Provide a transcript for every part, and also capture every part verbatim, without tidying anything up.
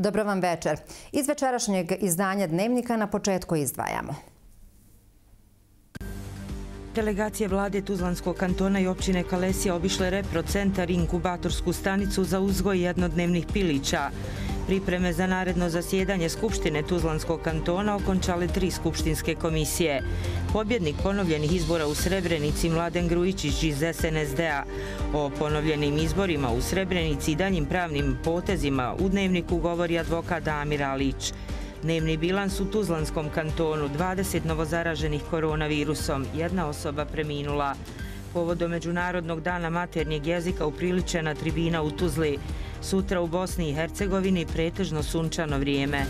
Dobro vam večer. Iz večerašnjeg izdanja Dnevnika na početku izdvajamo. Delegacije vlade Tuzlanskog kantona i općine Kalesija obišle reprocentar i inkubatorsku stanicu za uzgoj jednodnevnih pilića. Pripreme za naredno zasjedanje Skupštine Tuzlanskog kantona okončale tri skupštinske komisije. Pobjednik ponovljenih izbora u Srebrenici Mladen Grujičić iz S N S D-a. O ponovljenim izborima u Srebrenici i daljim pravnim potezima u Dnevniku govori advokat Damir Alić. Dnevni bilans u Tuzlanskom kantonu, dvadeset novozaraženih koronavirusom, jedna osoba preminula. Povodom Međunarodnog dana maternjeg jezika upriličena tribina u Tuzli. Sutra u Bosni i Hercegovini pretežno sunčano vrijeme.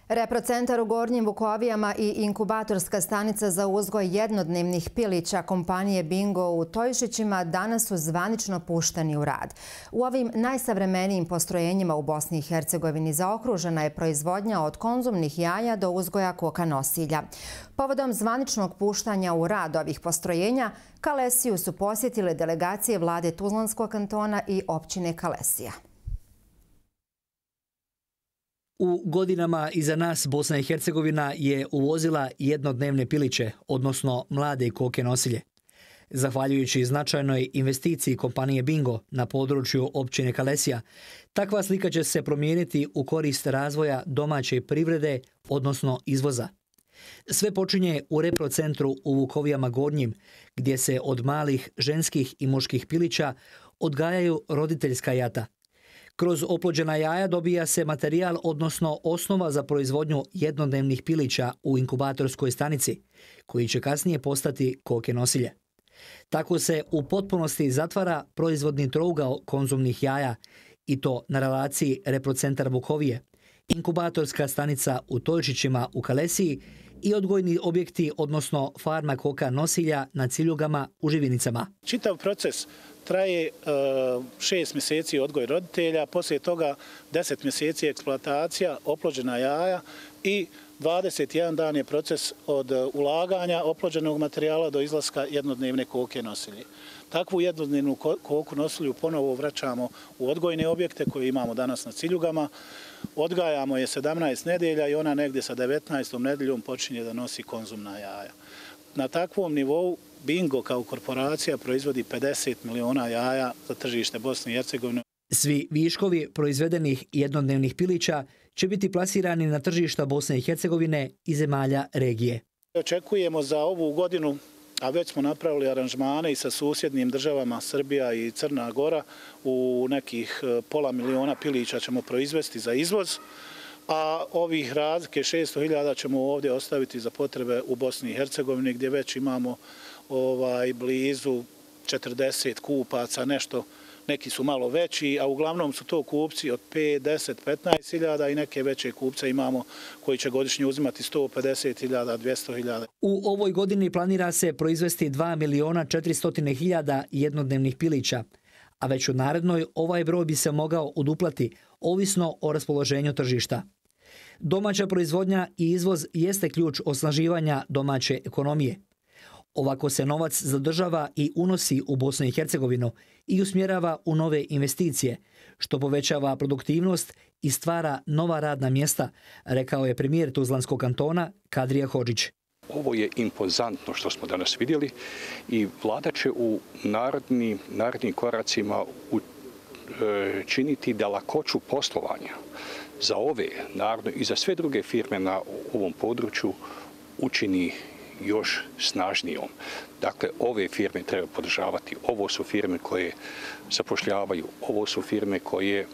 Reprocentar u Gornjim Vukovijama i inkubatorska stanica za uzgoj jednodnevnih pilića kompanije Bingo u Tojišićima danas su zvanično pušteni u rad. U ovim najsavremenijim postrojenjima u Bosni i Hercegovini zaokružena je proizvodnja od konzumnih jaja do uzgoja koka nosilja. Povodom zvaničnog puštanja u rad ovih postrojenja, Kalesiju su posjetile delegacije vlade Tuzlanskog kantona i općine Kalesija. U godinama iza nas Bosna i Hercegovina je uvozila jednodnevne piliće, odnosno mlade koke nosilje. Zahvaljujući značajnoj investiciji kompanije Bingo na području općine Kalesija, takva slika će se promijeniti u korist razvoja domaće privrede, odnosno izvoza. Sve počinje u reprocentru u Vukovijama Gornjim, gdje se od malih ženskih i muških pilića odgajaju roditeljska jata. Kroz oplođena jaja dobija se materijal, odnosno osnova za proizvodnju jednodnevnih pilića u inkubatorskoj stanici, koji će kasnije postati koke nosilje. Tako se u potpunosti zatvara proizvodni trougao konzumnih jaja, i to na relaciji reprocentar Vukovije, inkubatorska stanica u Tojišićima u Kalesiji i odgojni objekti, odnosno farma koka nosilja na Ciljugama u Živinicama. Čitav proces traje šest mjeseci odgoj roditelja, poslije toga deset mjeseci eksploatacija, oplođena jaja i dvadeset jedan dan je proces od ulaganja oplođenog materijala do izlaska jednodnevne koke nosilje. Takvu jednodnevnu koku nosilju ponovo vraćamo u odgojne objekte koje imamo danas na Ciljugama. Odgajamo je sedamnaest nedelja i ona negdje sa devetnaestom nedeljom počinje da nosi konzumna jaja. Na takvom nivou Bingo kao korporacija proizvodi pedeset miliona jaja za tržište Bosne i Hercegovine. Svi viškovi proizvedenih jednodnevnih pilića će biti plasirani na tržišta Bosne i Hercegovine i zemalja regije. Očekujemo za ovu godinu, a već smo napravili aranžmane i sa susjednim državama Srbija i Crna Gora, u nekih pola miliona pilića ćemo proizvesti za izvoz, a ovih razlike šesto hiljada ćemo ovdje ostaviti za potrebe u Bosni i Hercegovini, gdje već imamo ovaj, blizu četrdeset kupaca, nešto, neki su malo veći, a uglavnom su to kupci od pet, deset, petnaest hiljada i neke veće kupce imamo koji će godišnje uzimati sto pedeset hiljada, dvjesto hiljada. U ovoj godini planira se proizvesti dva miliona četiristo hiljada jednodnevnih pilića, a već u narednoj ovaj broj bi se mogao uduplati, ovisno o raspoloženju tržišta. Domaća proizvodnja i izvoz jeste ključ osnaživanja domaće ekonomije. Ovako se novac zadržava i unosi u Bosnu i Hercegovinu i usmjerava u nove investicije, što povećava produktivnost i stvara nova radna mjesta, rekao je premijer Tuzlanskog kantona Kadrija Hodžić. Ovo je impozantno što smo danas vidjeli i vlada će u narednim, narednim koracima činiti da lakoću poslovanja za ove naravno i za sve druge firme na ovom području učini još snažnijom. Dakle, ove firme treba podržavati. Ovo su firme koje zapošljavaju, ovo su firme koje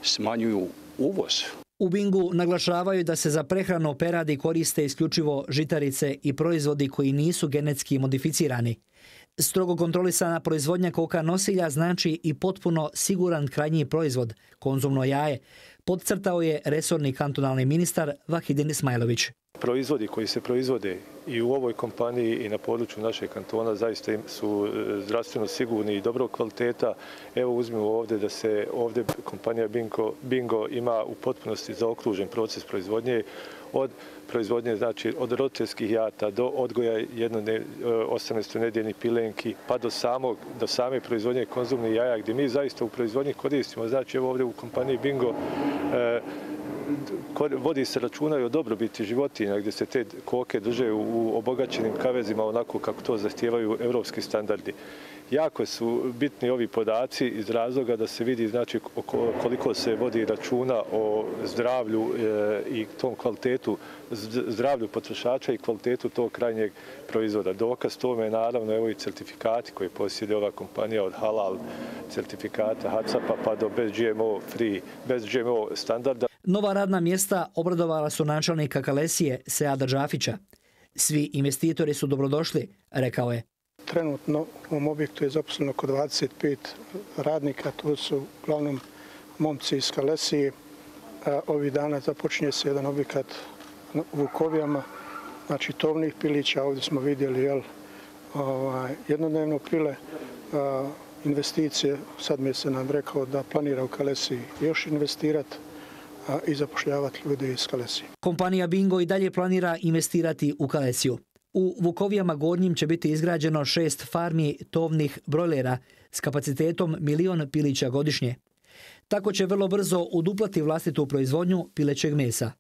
smanjuju uvoz. U Bingu naglašavaju da se za prehranu peradi koriste isključivo žitarice i proizvodi koji nisu genetski modificirani. Strogo kontrolisana proizvodnja koka nosilja znači i potpuno siguran krajnji proizvod, konzumno jaje, podcrtao je resorni kantonalni ministar Vahidin Ismailović. Proizvodi koji se proizvode i u ovoj kompaniji i na području našeg kantona zaista su zdravstveno sigurni i dobrog kvaliteta. Evo uzmimo ovdje da se ovdje kompanija Bingo, Bingo ima u potpunosti zaokružen proces proizvodnje. od proizvodnje, znači od roditeljskih jata do odgoja osamnaestodnevnih pilenki, pa do, samog, do same proizvodnje konzumnih jaja, gdje mi zaista u proizvodnji koristimo. Znači, evo ovdje u kompaniji Bingo e, vodi se računa i o dobrobiti životinja, gdje se te koke drže u obogaćenim kavezima onako kako to zahtijevaju evropski standardi. Jako su bitni ovi podaci iz razloga da se vidi znači, koliko se vodi računa o zdravlju i tom kvalitetu, zdravlju potrošača i kvalitetu tog krajnjeg proizvoda. Dokaz tome je naravno evo i certifikati koje posjeduje ova kompanija od halal certifikata H A C C A P-a pa do bez G M O free, bez G M O standarda. Nova radna mjesta obradovala su načelnika Kalesije Seada Džafića. Svi investitori su dobrodošli, rekao je. Trenutno u ovom objektu je zaposleno oko dvadeset pet radnika, to su uglavnom momci iz Kalesije. Ovih dana započinje se jedan objekat u Vukovijama, znači tovnih pilića. Ovdje smo vidjeli jel, ovaj, jednodnevno pile investicije. Sad mi se nam rekao da planira u Kalesiji još investirati i zapošljavati ljude iz Kalesije. Kompanija Bingo i dalje planira investirati u Kalesiju. U Vukovijama Gornjim će biti izgrađeno šest farmi tovnih brojlera s kapacitetom milion pilića godišnje. Tako će vrlo brzo uduplati vlastitu proizvodnju pilećeg mesa.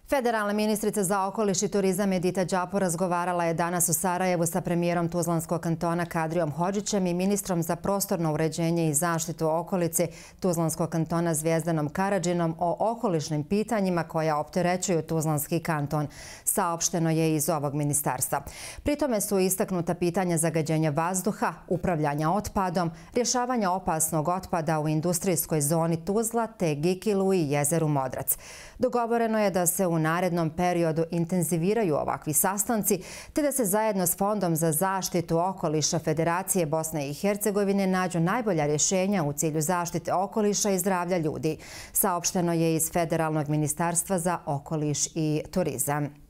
Federalna ministrica za okoliš i turizam Edita Đapo razgovarala je danas u Sarajevu sa premijerom Tuzlanskog kantona Kadrijom Hodžićem i ministrom za prostorno uređenje i zaštitu okolice Tuzlanskog kantona Zvijezdanom Karadžinom o okolišnim pitanjima koja opterećuju Tuzlanski kanton, saopšteno je iz ovog ministarstva. Pritome su istaknuta pitanja zagađenja vazduha, upravljanja otpadom, rješavanja opasnog otpada u industrijskoj zoni Tuzla te Gikilu i jezeru Modrac. Dogovoreno je da se u narednom periodu intenziviraju ovakvi sastanci, te da se zajedno s Fondom za zaštitu okoliša Federacije Bosne i Hercegovine nađu najbolja rješenja u cilju zaštite okoliša i zdravlja ljudi, saopšteno je iz Federalnog ministarstva za okoliš i turizam.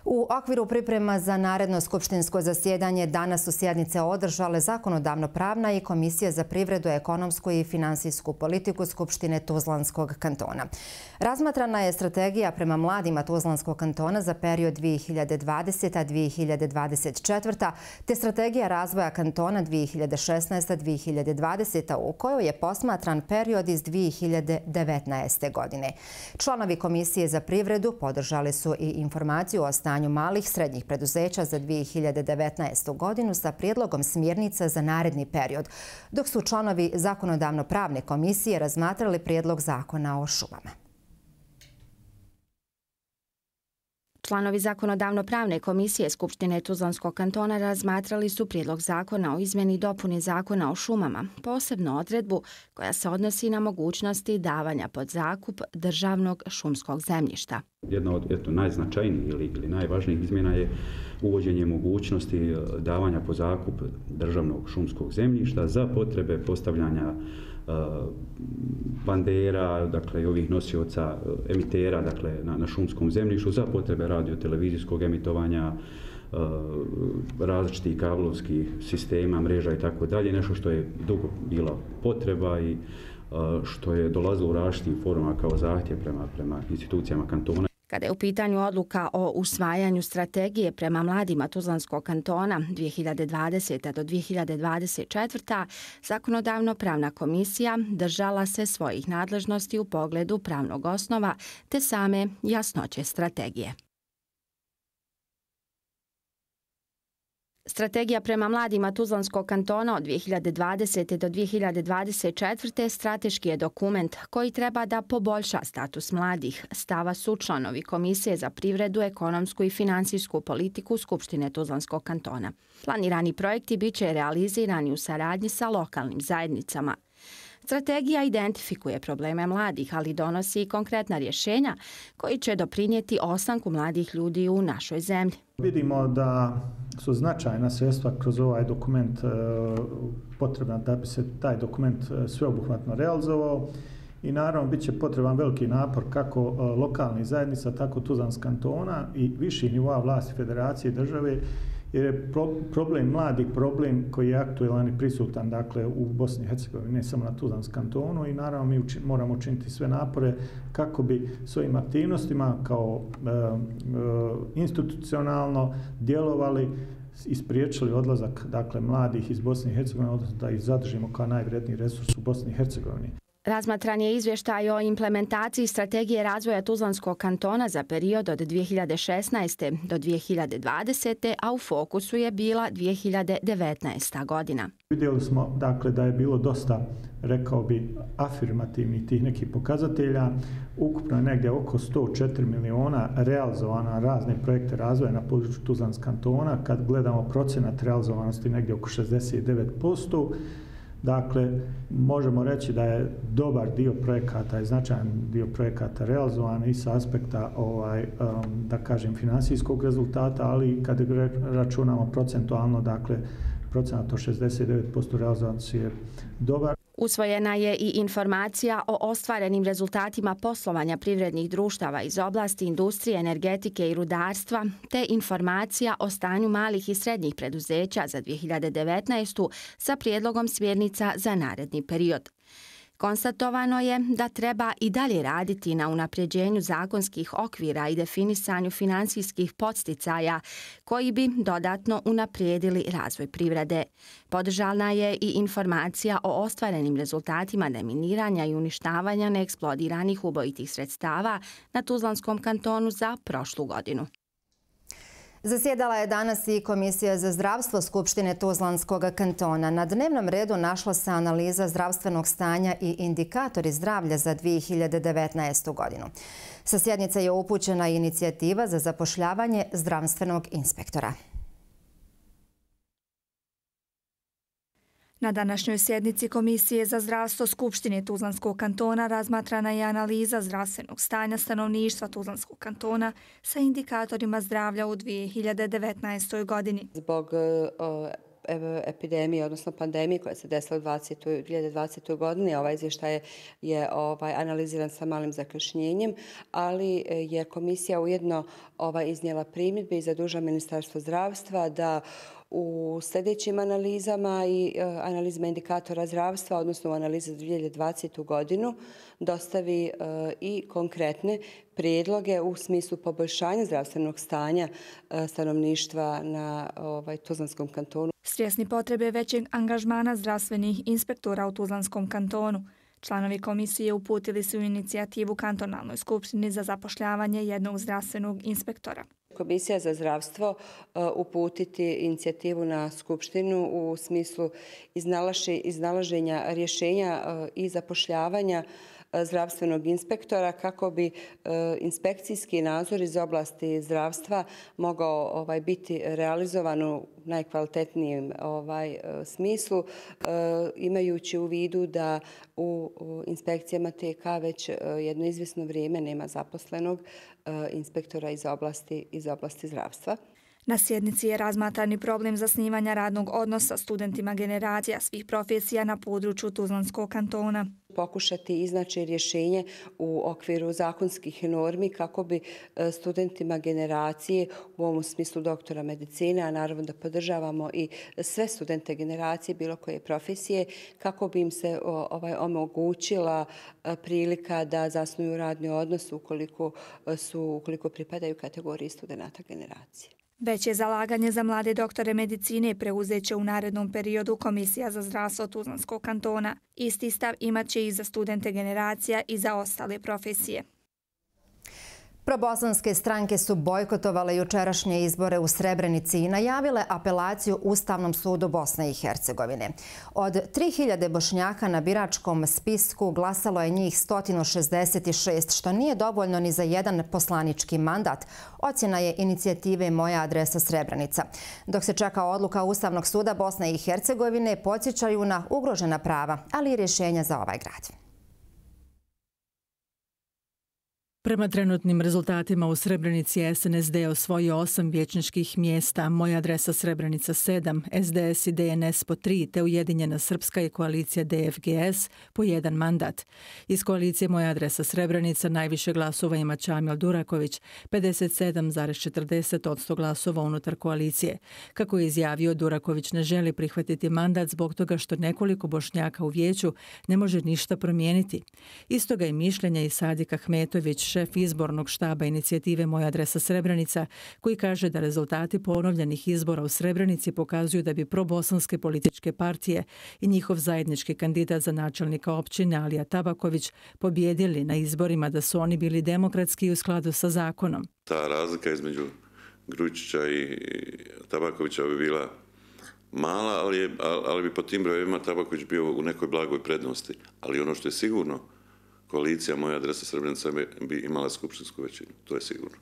U okviru priprema za naredno skupštinsko zasjedanje danas su sjednice održale Zakonodavno-pravna i Komisija za privredu, ekonomsku i finansijsku politiku Skupštine Tuzlanskog kantona. Razmatrana je strategija prema mladima Tuzlanskog kantona za period dvije hiljade dvadeseta do dvije hiljade dvadeset četvrta te strategija razvoja kantona dvije hiljade šesnaesta do dvije hiljade dvadeseta u kojoj je posmatran period iz dvije hiljade devetnaeste. godine. Članovi Komisije za privredu podržali su i informaciju o stanju malih srednjih preduzeća za dvije hiljade devetnaestu. godinu sa prijedlogom smjernica za naredni period, dok su članovi Zakonodavno-pravne komisije razmatrali prijedlog zakona o šumama. Članovi Zakonodavno-pravne komisije Skupštine Tuzlanskog kantona razmatrali su prijedlog zakona o izmjeni i dopuni zakona o šumama, posebno odredbu koja se odnosi na mogućnosti davanja pod zakup državnog šumskog zemljišta. Jedna od eto, najznačajnijih ili, ili najvažnijih izmjena je uvođenje mogućnosti davanja pod zakup državnog šumskog zemljišta za potrebe postavljanja bandera, dakle i ovih nosioca emitera, dakle na, na šumskom zemljištu za potrebe radio-televizijskog emitovanja, različitih kablovskih sistema, mreža i tako dalje, nešto što je dugo bila potreba i što je dolazilo u različitim formama kao zahtjev prema, prema institucijama kantona. Kada je u pitanju odluka o usvajanju strategije prema mladima Tuzlanskog kantona dvije hiljade dvadeseta do dvije hiljade dvadeset četvrta. Zakonodavno-pravna komisija držala se svojih nadležnosti u pogledu pravnog osnova te same jasnoće strategije. Strategija prema mladima Tuzlanskog kantona od dvije hiljade dvadesete do dvije hiljade dvadeset četvrte. strateški je dokument koji treba da poboljša status mladih, stava su članovi Komisije za privredu, ekonomsku i finansijsku politiku Skupštine Tuzlanskog kantona. Planirani projekti biće realizirani u saradnji sa lokalnim zajednicama. Strategija identifikuje probleme mladih, ali donosi i konkretna rješenja koji će doprinijeti ostanku mladih ljudi u našoj zemlji. Vidimo da su značajna sredstva kroz ovaj dokument potrebna da bi se taj dokument sveobuhvatno realizovao i naravno bit će potreban veliki napor kako lokalnih zajednica, tako Tuzlanskog kantona i viših nivoa vlasti federacije i države, jer je problem mladih problem koji je aktuelan i prisutan dakle, u Bosni i Hercegovini, ne samo na Tuzlanskom kantonu i naravno mi uči, moramo učiniti sve napore kako bi svojim aktivnostima kao e, e, institucionalno djelovali i spriječili odlazak dakle, mladih iz Bosne i Hercegovine, odnosno da ih zadržimo kao najvredniji resurs u Bosni i Hercegovini. Razmatran je izvještaj o implementaciji strategije razvoja Tuzlanskog kantona za period od dvije hiljade šesnaeste. do dvije hiljade dvadesete. a u fokusu je bila dvije hiljade devetnaesta. godina. Vidjeli smo dakle, da je bilo dosta, rekao bi, afirmativnih tih nekih pokazatelja. Ukupno je negdje oko sto četiri miliona realizovana razne projekte razvoja na području Tuzlanskog kantona. Kad gledamo procenat realizovanosti negdje oko šezdeset devet posto. Dakle, možemo reći da je dobar dio projekata i značajan dio projekata realizovan i sa aspekta ovaj, da kažem, finansijskog rezultata, ali kad računamo procentualno, dakle, procenat od šezdeset devet posto realizacije je dobar. Usvojena je i informacija o ostvarenim rezultatima poslovanja privrednih društava iz oblasti industrije, energetike i rudarstva, te informacija o stanju malih i srednjih preduzeća za dvije hiljade devetnaestu. sa prijedlogom smjernica za naredni period. Konstatovano je da treba i dalje raditi na unapređenju zakonskih okvira i definisanju finansijskih podsticaja koji bi dodatno unaprijedili razvoj privrede. Podržana je i informacija o ostvarenim rezultatima deminiranja i uništavanja neeksplodiranih ubojitih sredstava na Tuzlanskom kantonu za prošlu godinu. Zasjedala je danas i Komisija za zdravstvo Skupštine Tuzlanskog kantona. Na dnevnom redu našla se analiza zdravstvenog stanja i indikatori zdravlja za dvije hiljade devetnaestu. godinu. Sa sjednice je upućena inicijativa za zapošljavanje zdravstvenog inspektora. Na današnjoj sjednici Komisije za zdravstvo Skupštine Tuzlanskog kantona razmatrana je analiza zdravstvenog stanja stanovništva Tuzlanskog kantona sa indikatorima zdravlja u dvije hiljade devetnaestoj. godini. Zbog uh, epidemije, odnosno pandemije koja se desila u dvije hiljade dvadesetoj. godini, ovaj izvještaj je ovaj, analiziran sa malim zakašnjenjem, ali je komisija ujedno ovaj, iznijela primjedbe i zadužila Ministarstvo zdravstva da u sljedećim analizama i analizama indikatora zdravstva, odnosno u analizi za dvije hiljade dvadesetu. godinu, dostavi i konkretne prijedloge u smislu poboljšanja zdravstvenog stanja stanovništva na ovaj, Tuzlanskom kantonu. Svjesni potrebe većeg angažmana zdravstvenih inspektora u Tuzlanskom kantonu, članovi komisije uputili su inicijativu kantonalnoj skupštini za zapošljavanje jednog zdravstvenog inspektora. Komisija za zdravstvo uputiti inicijativu na skupštinu u smislu iznalaženja rješenja i zapošljavanja zdravstvenog inspektora kako bi inspekcijski nadzor iz oblasti zdravstva mogao ovaj, biti realizovan u najkvalitetnijem ovaj, smislu, imajući u vidu da u inspekcijama T K već jedno izvjesno vrijeme nema zaposlenog inspektora iz oblasti, iz oblasti zdravstva. Na sjednici je razmatrani problem zasnivanja radnog odnosa studentima generacija svih profesija na području Tuzlanskog kantona. Pokušati iznaći rješenje u okviru zakonskih normi kako bi studentima generacije, u ovom smislu doktora medicine, a naravno da podržavamo i sve studente generacije bilo koje profesije, kako bi im se ovaj, omogućila prilika da zasnuju radni odnos ukoliko, su, ukoliko pripadaju kategoriji studenta generacije. Veće zalaganje za mlade doktore medicine preuzet će u narednom periodu Komisija za zdravstvo Tuzlanskog kantona. Isti stav imat će i za studente generacija i za ostale profesije. Probosanske stranke su bojkotovale jučerašnje izbore u Srebrenici i najavile apelaciju Ustavnom sudu Bosne i Hercegovine. Od tri hiljade Bošnjaka na biračkom spisku glasalo je njih sto šezdeset šest, što nije dovoljno ni za jedan poslanički mandat. Ocjena je inicijative Moja adresa Srebrenica. Dok se čeka odluka Ustavnog suda Bosne i Hercegovine, podsjećaju na ugrožena prava, ali i rješenja za ovaj grad. Prema trenutnim rezultatima u Srebrenici S N S D osvojio osam vijećničkih mjesta, Moja adresa Srebrenica sedam, S D S i D N S po tri, te Ujedinjena Srpska i koalicija D F G S po jedan mandat. Iz koalicije Moja adresa Srebrenica najviše glasova ima Čamil Duraković, pedeset sedam zarez četrdeset posto glasova unutar koalicije. Kako je izjavio, Duraković ne želi prihvatiti mandat zbog toga što nekoliko Bošnjaka u vijeću ne može ništa promijeniti. Istoga je mišljenja i Sadik Ahmetović, šef izbornog štaba inicijative Moja adresa Srebrenica, koji kaže da rezultati ponovljenih izbora u Srebrenici pokazuju da bi probosanske političke partije i njihov zajednički kandidat za načelnika općine Alija Tabaković pobjedili na izborima, da su oni bili demokratski i u skladu sa zakonom. Ta razlika između Grujičića i Tabakovića bi bila mala, ali, je, ali bi po tim brojevima Tabaković bio u nekoj blagoj prednosti. Ali ono što je sigurno, koalicija Moja adresa Srebrenica bi imala skupštinsku većinu, to je sigurno.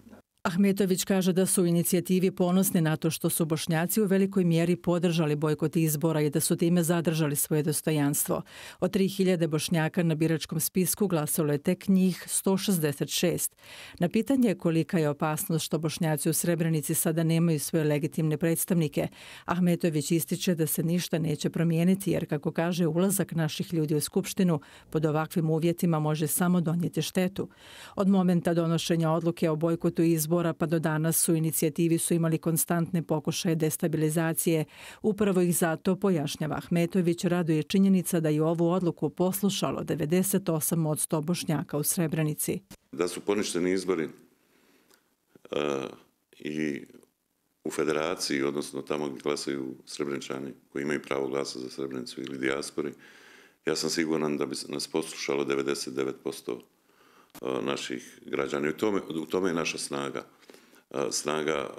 Ahmetović kaže da su u inicijativi ponosni na to što su Bošnjaci u velikoj mjeri podržali bojkot izbora i da su time zadržali svoje dostojanstvo. Od tri hiljade Bošnjaka na biračkom spisku glasalo je tek njih sto šezdeset šest. Na pitanje kolika je opasnost što Bošnjaci u Srebrenici sada nemaju svoje legitimne predstavnike, Ahmetović ističe da se ništa neće promijeniti, jer kako kaže, ulazak naših ljudi u skupštinu pod ovakvim uvjetima može samo donijeti štetu. Od momenta donošenja odluke o bojkotu izbora pa do danas u inicijativi su imali konstantne pokušaje destabilizacije. Upravo ih zato, pojašnjava Ahmetović, raduje činjenica da je ovu odluku poslušalo devedeset osam posto Bošnjaka u Srebrenici. Da su poništeni izbori uh, i u federaciji, odnosno tamo gdje glasaju Srebreničani koji imaju pravo glasa za Srebrenicu ili dijaspori, ja sam siguran da bi nas poslušalo devedeset devet posto naših građana. I u tome, u tome je naša snaga. Snaga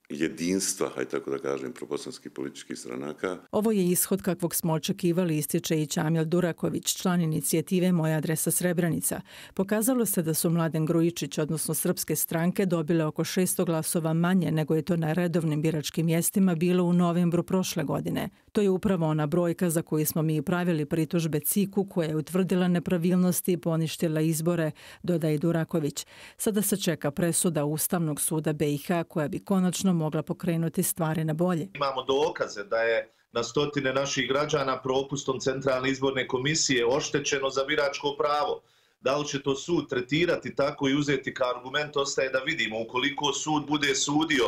jedinstva, hajde tako da kažem, probosanskih političkih stranaka. Ovo je ishod kakvog smo očekivali, ističe i Čamil Duraković, član inicijative Moja adresa Srebrenica. Pokazalo se da su Mladen Grujičić, odnosno srpske stranke, dobile oko šesto glasova manje nego je to na redovnim biračkim mjestima bilo u novembru prošle godine. To je upravo ona brojka za koju smo mi pravili pritužbe C I K-u, koja je utvrdila nepravilnosti i poništila izbore, dodaje Duraković. Sada se čeka presuda Ustavnog suda B i H koja bi konačno mogla pokrenuti stvari na bolje. Imamo dokaze da je na stotine naših građana propustom Centralne izborne komisije oštećeno za biračko pravo. Da li će to sud tretirati tako i uzeti kao argument, ostaje da vidimo. Ukoliko sud bude sudio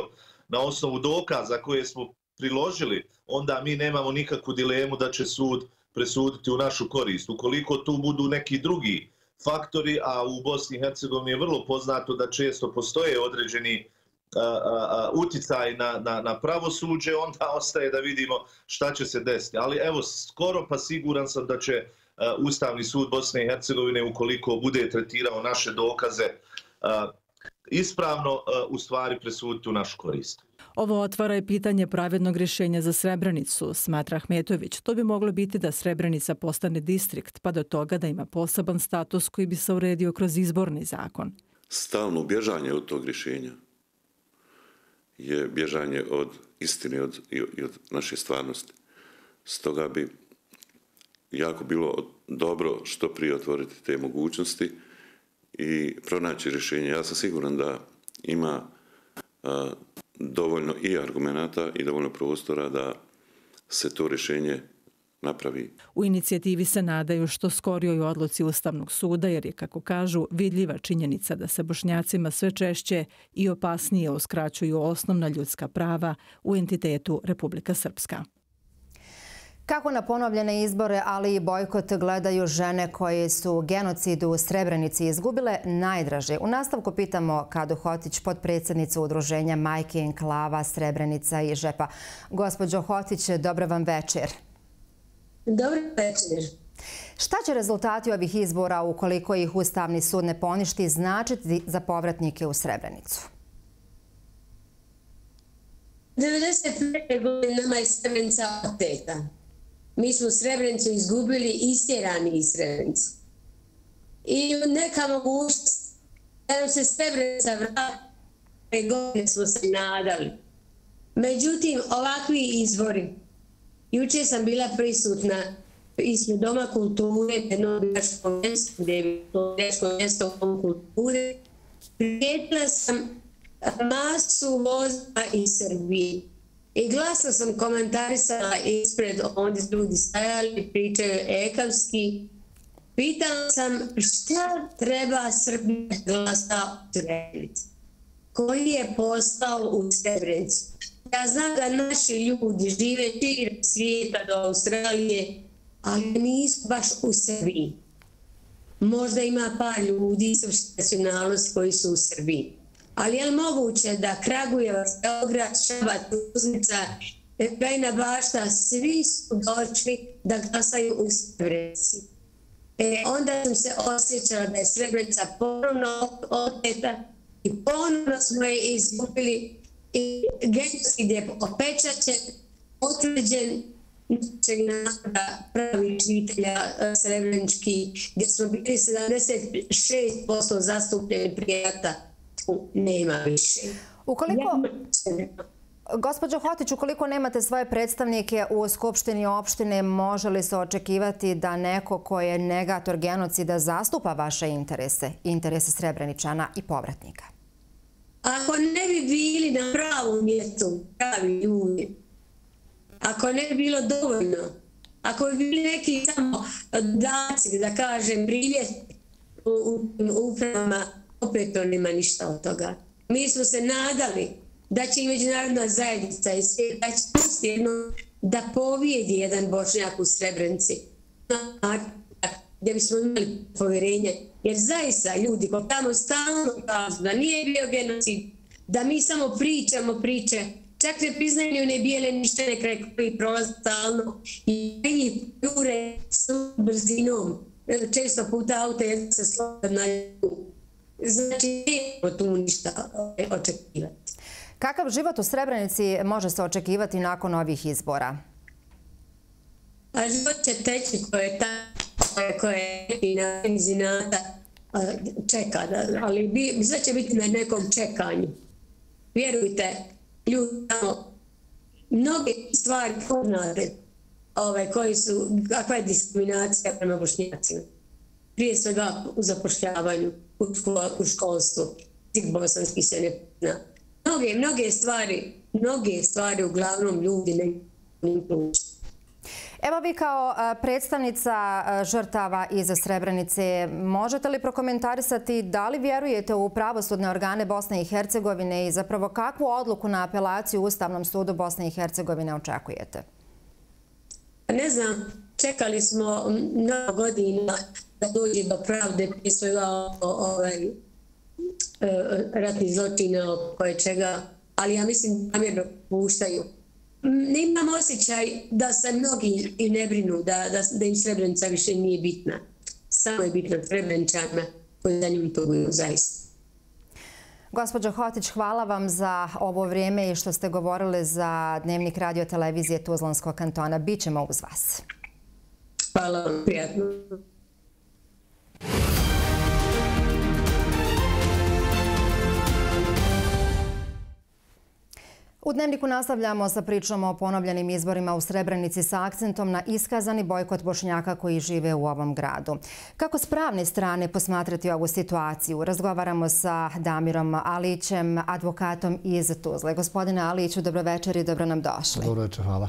na osnovu dokaza koje smo priložili, onda mi nemamo nikakvu dilemu da će sud presuditi u našu korist. Ukoliko tu budu neki drugi faktori, a u Bosni i Hercegovini je vrlo poznato da često postoje određeni a, a, a, uticaj na, na, na pravosuđe, onda ostaje da vidimo šta će se desiti. Ali evo, skoro pa siguran sam da će a, Ustavni sud Bosne i Hercegovine, ukoliko bude tretirao naše dokaze a, ispravno, a, u stvari presuditi u našu korist. Ovo otvara i pitanje pravednog rješenja za Srebrenicu, smatra Ahmetović. To bi moglo biti da Srebrenica postane distrikt, pa do toga da ima poseban status koji bi se uredio kroz izborni zakon. Stalno bježanje od tog rješenja je bježanje od istine od, i od naše stvarnosti. Stoga bi jako bilo dobro što prije otvoriti te mogućnosti i pronaći rješenje. Ja sam siguran da ima a, dovoljno i argumenata i dovoljno prostora da se to rješenje napravi. U inicijativi se nadaju što skorijoj odluci Ustavnog suda, jer je, kako kažu, vidljiva činjenica da se Bošnjacima sve češće i opasnije uskraćuju osnovna ljudska prava u entitetu Republika Srpska. Kako na ponovljene izbore, ali i bojkot gledaju žene koje su genocid u Srebrenici izgubile najdraže? U nastavku pitamo Kadu Hotić, potpredsjednicu udruženja Majke Enklava Srebrenica i Žepa. Gospođo Hotić, dobro vam večer. Dobro večer. Šta će rezultati ovih izbora, ukoliko ih Ustavni sud ne poništi, značiti za povratnike u Srebrenicu? devedeset prve godine nama je Srebrenica oteta. Mi smo Srebrenicu izgubili, istjerani iz Srebrenice. I neka mogućnost da nam se Srebrenica vrati, godine smo se nadali. Međutim, ovakvi izbori. Juče sam bila prisutna ispred Doma kulture, jedno biračko mjesto, gdje je bilo biračko mjesto u Domu kulture, primijetila sam masu vozila iz Srbije. I glasno sam komentarisala ispred, ondje ljudi stajali, pričaju ekavski. Pitala sam šta treba Srbija glasa u Srebrenici. Koji je postao u Srebrenici? Ja znam da naši ljudi žive širom svijeta do Australije, ali nisu baš u Srbiji. Možda ima par ljudi srpske nacionalnosti koji su u Srbiji. Ali je li moguće da Kragujevac, Beograd, Šabac, Tuzlica, Bajina Bašta, svi su došli da glasaju u Srebrenici? E, onda sam se osjećala da je Srebrenica ponovno oteta i ponovno smo je izgubili i genocid je opečaćen, potvrđen našeg naroda pravih žitelja srebrenički, gdje smo bili sedamdeset šest posto zastupljeni prije rata. Nema više. Ukoliko, gospođo Hotić, ukoliko nemate svoje predstavnike u Skupštini opštine, može li se očekivati da neko ko je negator genocida zastupa vaše interese, interese Srebreničana i povratnika? Ako ne bi bili na pravom mjestu, pravi ljudi, ako ne bi bilo dovoljno, ako bi bili neki samo daci, da kažem, priljet u upravama, opet to nema ništa od toga. Mi smo se nadali da će i međunarodna zajednica i svijet, da će pustiti jedno da povijedi jedan Bošnjak u Srebrenici, gdje bismo imali povjerenje. Jer zaista ljudi ko tamo stalno kažu da nije bio genocid, da mi samo pričamo priče, čak ne priznaju ne bijele ništene kraj koji prolaze stalno i jure s brzinom. Često puta auto je se slobodno na ljubu. Znači, nema tu ništa očekivati. Kakav život u Srebrenici može se očekivati nakon ovih izbora? A život će teći koje je tako, koje je na benzinata čeka, ali sve će biti na nekom čekanju. Vjerujte, ljudi tamo, mnoge stvari poznate, koji su, kakva je diskriminacija prema Bošnjacima. Prije svega u zapošljavanju, u školstvu, svih bosanskih se ne pozna. Mnoge, mnoge stvari, mnoge stvari uglavnom ljudi ne pruču. Evo vi kao predstavnica žrtava iz Srebrenice, možete li prokomentarisati da li vjerujete u pravosudne organe Bosne i Hercegovine i zapravo kakvu odluku na apelaciju u Ustavnom sudu Bosne i Hercegovine očekujete? Ne znam, čekali smo mnogo godina da dođe do pravde prije svega ovaj, ratni zločina koje čega, ali ja mislim da namjerno puštaju. Nemam osjećaj da se mnogi i ne brinu, da, da, da im Srebrenica više nije bitna. Samo je bitna Srebreničanima koji za njim tuguju zaista. Gospođo Hotić, hvala vam za ovo vrijeme i što ste govorili za Dnevnik radio televizije Tuzlanskog kantona. Bićemo uz vas. Hvala vam, prijatno. U Dnevniku nastavljamo sa pričom o ponovljenim izborima u Srebrenici sa akcentom na iskazani bojkot Bošnjaka koji žive u ovom gradu. Kako s pravne strane posmatrati ovu situaciju? Razgovaramo sa Damirom Alićem, advokatom iz Tuzle. Gospodine Aliću, dobro večer i dobro nam došli. Dobro večer, hvala.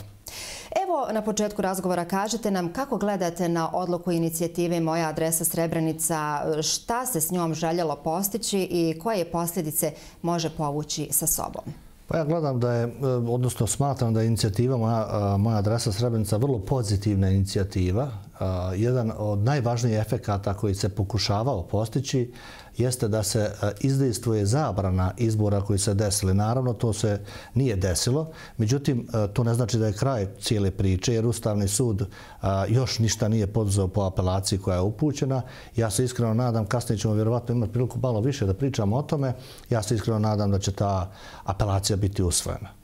Evo, na početku razgovora kažete nam kako gledate na odluku inicijative Moja adresa Srebrenica, šta se s njom željelo postići i koje posljedice može povući sa sobom? Pa ja gledam da je, odnosno smatram da je inicijativa Moja, moja adresa Srebrenica vrlo pozitivna inicijativa. Jedan od najvažnijih efekata koji se pokušavao postići jeste da se izdejstvuje zabrana izbora koji se desili. Naravno, to se nije desilo. Međutim, to ne znači da je kraj cijele priče, jer Ustavni sud još ništa nije poduzeo po apelaciji koja je upućena. Ja se iskreno nadam, kasnije ćemo vjerovatno imati priliku malo više da pričamo o tome, ja se iskreno nadam da će ta apelacija biti usvojena.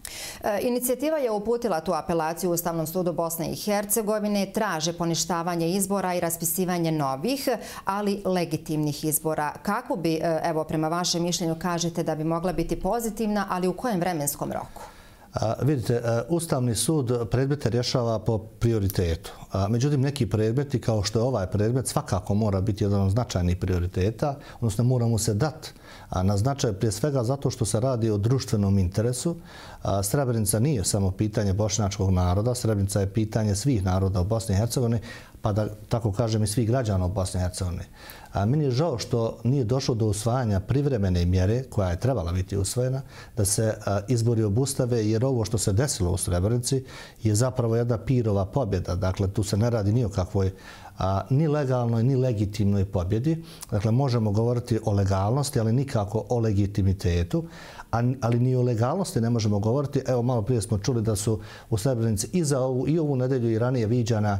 Inicijativa je uputila tu apelaciju u Ustavnom sudu Bosne i Hercegovine, traže poništavanje izbora i raspisivanje novih, ali legitimnih izbora. Kako bi, evo, prema vašem mišljenju kažete da bi mogla biti pozitivna, ali u kojem vremenskom roku? Vidite, Ustavni sud predmete rješava po prioritetu. Međutim, neki predmeti, kao što je ovaj predmet, svakako mora biti jedan od značajnih prioriteta, odnosno mora mu se dati na značaj prije svega zato što se radi o društvenom interesu. Srebrenica nije samo pitanje bošnjačkog naroda, Srebrenica je pitanje svih naroda u Bosni i Hercegovini, pa da tako kažem i svih građana u Bosni i Hercegovini. Meni je žao što nije došlo do usvajanja privremene mjere koja je trebala biti usvojena, da se izbori obustave, jer ovo što se desilo u Srebrenici je zapravo jedna pirova pobjeda. Dakle, tu se ne radi ni o kakvoj ni legalnoj, ni legitimnoj pobjedi. Dakle, možemo govoriti o legalnosti, ali nikako o legitimitetu. Ali ni o legalnosti ne možemo govoriti. Evo, malo prije smo čuli da su u Srebrenici i za ovu, i ovu nedelju i ranije viđana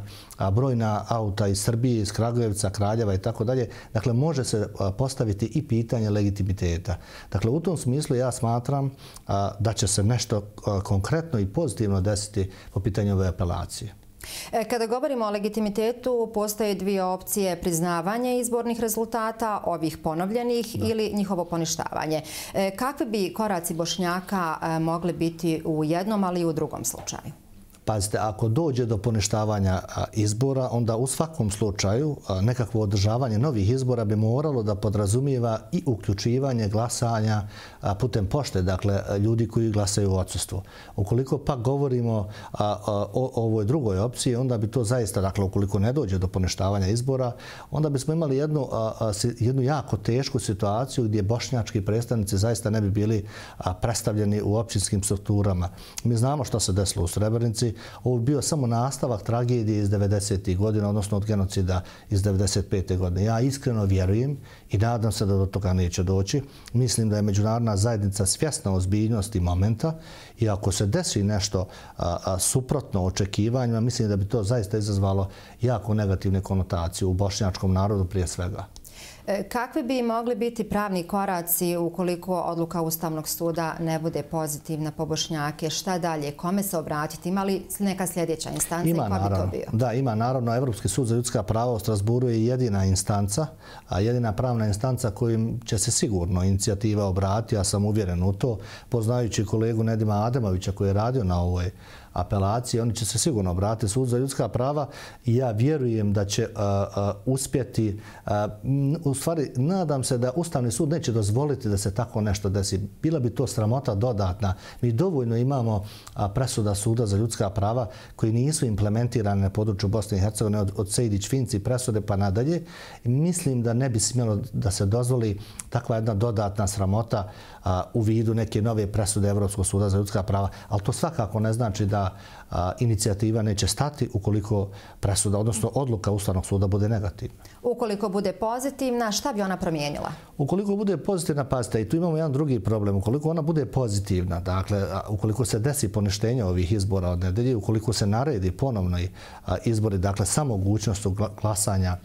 brojna auta iz Srbije, iz Kragujevca, Kraljeva i tako dalje. Dakle, može se postaviti i pitanje legitimiteta. Dakle, u tom smislu ja smatram da će se nešto konkretno i pozitivno desiti po pitanju ove apelacije. Kada govorimo o legitimitetu, postoje dvije opcije: priznavanje izbornih rezultata, ovih ponovljenih, da, ili njihovo poništavanje. Kakvi bi koraci Bošnjaka mogli biti u jednom, ali i u drugom slučaju? Pazite, ako dođe do poništavanja izbora, onda u svakom slučaju nekakvo održavanje novih izbora bi moralo da podrazumijeva i uključivanje glasanja putem pošte, dakle ljudi koji glasaju u odsustvu. Ukoliko pak govorimo o ovoj drugoj opciji, onda bi to zaista, dakle ukoliko ne dođe do poništavanja izbora, onda bismo imali jednu, jednu jako tešku situaciju gdje bošnjački predstavnici zaista ne bi bili predstavljeni u općinskim strukturama. Mi znamo što se desilo u Srebrenici. Ovo je bio samo nastavak tragedije iz devedesetih godina, odnosno od genocida iz devedeset pete godine. Ja iskreno vjerujem i nadam se da do toga neće doći. Mislim da je međunarodna zajednica svjesna ozbiljnosti momenta i ako se desi nešto a, a, suprotno očekivanjima, mislim da bi to zaista izazvalo jako negativne konotacije u bošnjačkom narodu prije svega. Kakvi bi mogli biti pravni koraci ukoliko odluka Ustavnog suda ne bude pozitivna po Bošnjake? Šta dalje? Kome se obratiti? Ima li neka sljedeća instanca ima, i ko bi to bio? Da, ima naravno. Evropski sud za ljudska prava u Strasburu je jedina instanca, a jedina pravna instanca kojim će se sigurno inicijativa obratiti. Ja sam uvjeren u to. Poznajući kolegu Nedima Ademovića koji je radio na ovoj apelacije, oni će se sigurno obratiti Sud za ljudska prava i ja vjerujem da će uh, uh, uspjeti. Uh, u stvari, nadam se da Ustavni sud neće dozvoliti da se tako nešto desi. Bila bi to sramota dodatna. Mi dovoljno imamo uh, presuda Suda za ljudska prava koji nisu implementirane na području Bosne i Hercegovine od, od Sejdić-Finci presude pa nadalje. I mislim da ne bi smjelo da se dozvoli takva jedna dodatna sramota uh, u vidu neke nove presude Evropskog suda za ljudska prava. Ali to svakako ne znači da A, inicijativa neće stati ukoliko presuda, odnosno odluka Ustavnog suda bude negativna. Ukoliko bude pozitivna, šta bi ona promijenila? Ukoliko bude pozitivna, pazite, i tu imamo jedan drugi problem. Ukoliko ona bude pozitivna, dakle, a, ukoliko se desi poništenje ovih izbora od nedelje, ukoliko se naredi ponovno izbori, dakle, sa mogućnostu glasanja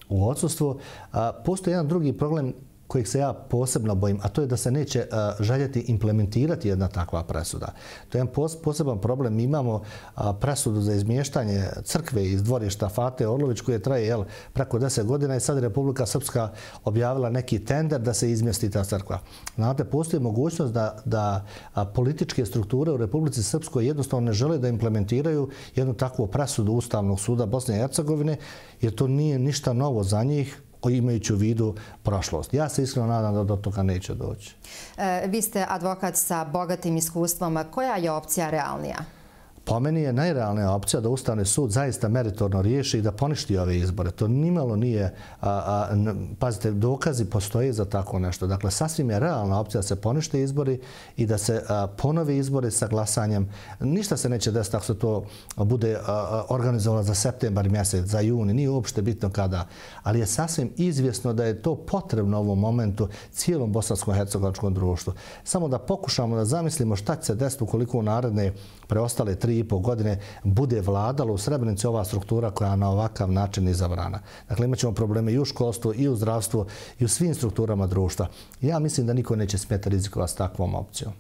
u odsustvu, a, postoji jedan drugi problem kojeg se ja posebno bojim, a to je da se neće uh, željeti implementirati jedna takva presuda. To je jedan pos poseban problem. Mi imamo uh, presudu za izmještanje crkve iz dvorišta Fate Orlović koje traje jel, preko deset godina i sad Republika Srpska objavila neki tender da se izmjesti ta crkva. Znate, postoji mogućnost da, da a, političke strukture u Republici Srpskoj jednostavno ne žele da implementiraju jednu takvu presudu Ustavnog suda Bosne i Hercegovine, jer to nije ništa novo za njih, imajući u vidu prošlost. Ja se iskreno nadam da do toga neće doći. E, vi ste advokat sa bogatim iskustvom. Koja je opcija realnija? Po meni je najrealnija opcija da Ustavni sud zaista meritorno riješi i da poništi ove izbore. To nimalo nije, a, a, pazite, dokazi postoje za tako nešto. Dakle, sasvim je realna opcija da se ponište izbori i da se a, ponove izbori sa glasanjem. Ništa se neće desiti ako se to bude a, a, organizovalo za septembar mjesec, za juni, nije uopšte bitno kada. Ali je sasvim izvjesno da je to potrebno u ovom momentu cijelom bosansko-hercegovačkom društvu. Samo da pokušamo da zamislimo šta će se desiti ukoliko u naredne preostale tri tri i po godine bude vladala u Srebrenici ova struktura koja je na ovakav način izabrana. Dakle, imat ćemo probleme i u školstvu, i u zdravstvu, i u svim strukturama društva. Ja mislim da niko neće smjeti rizikovati s takvom opcijom.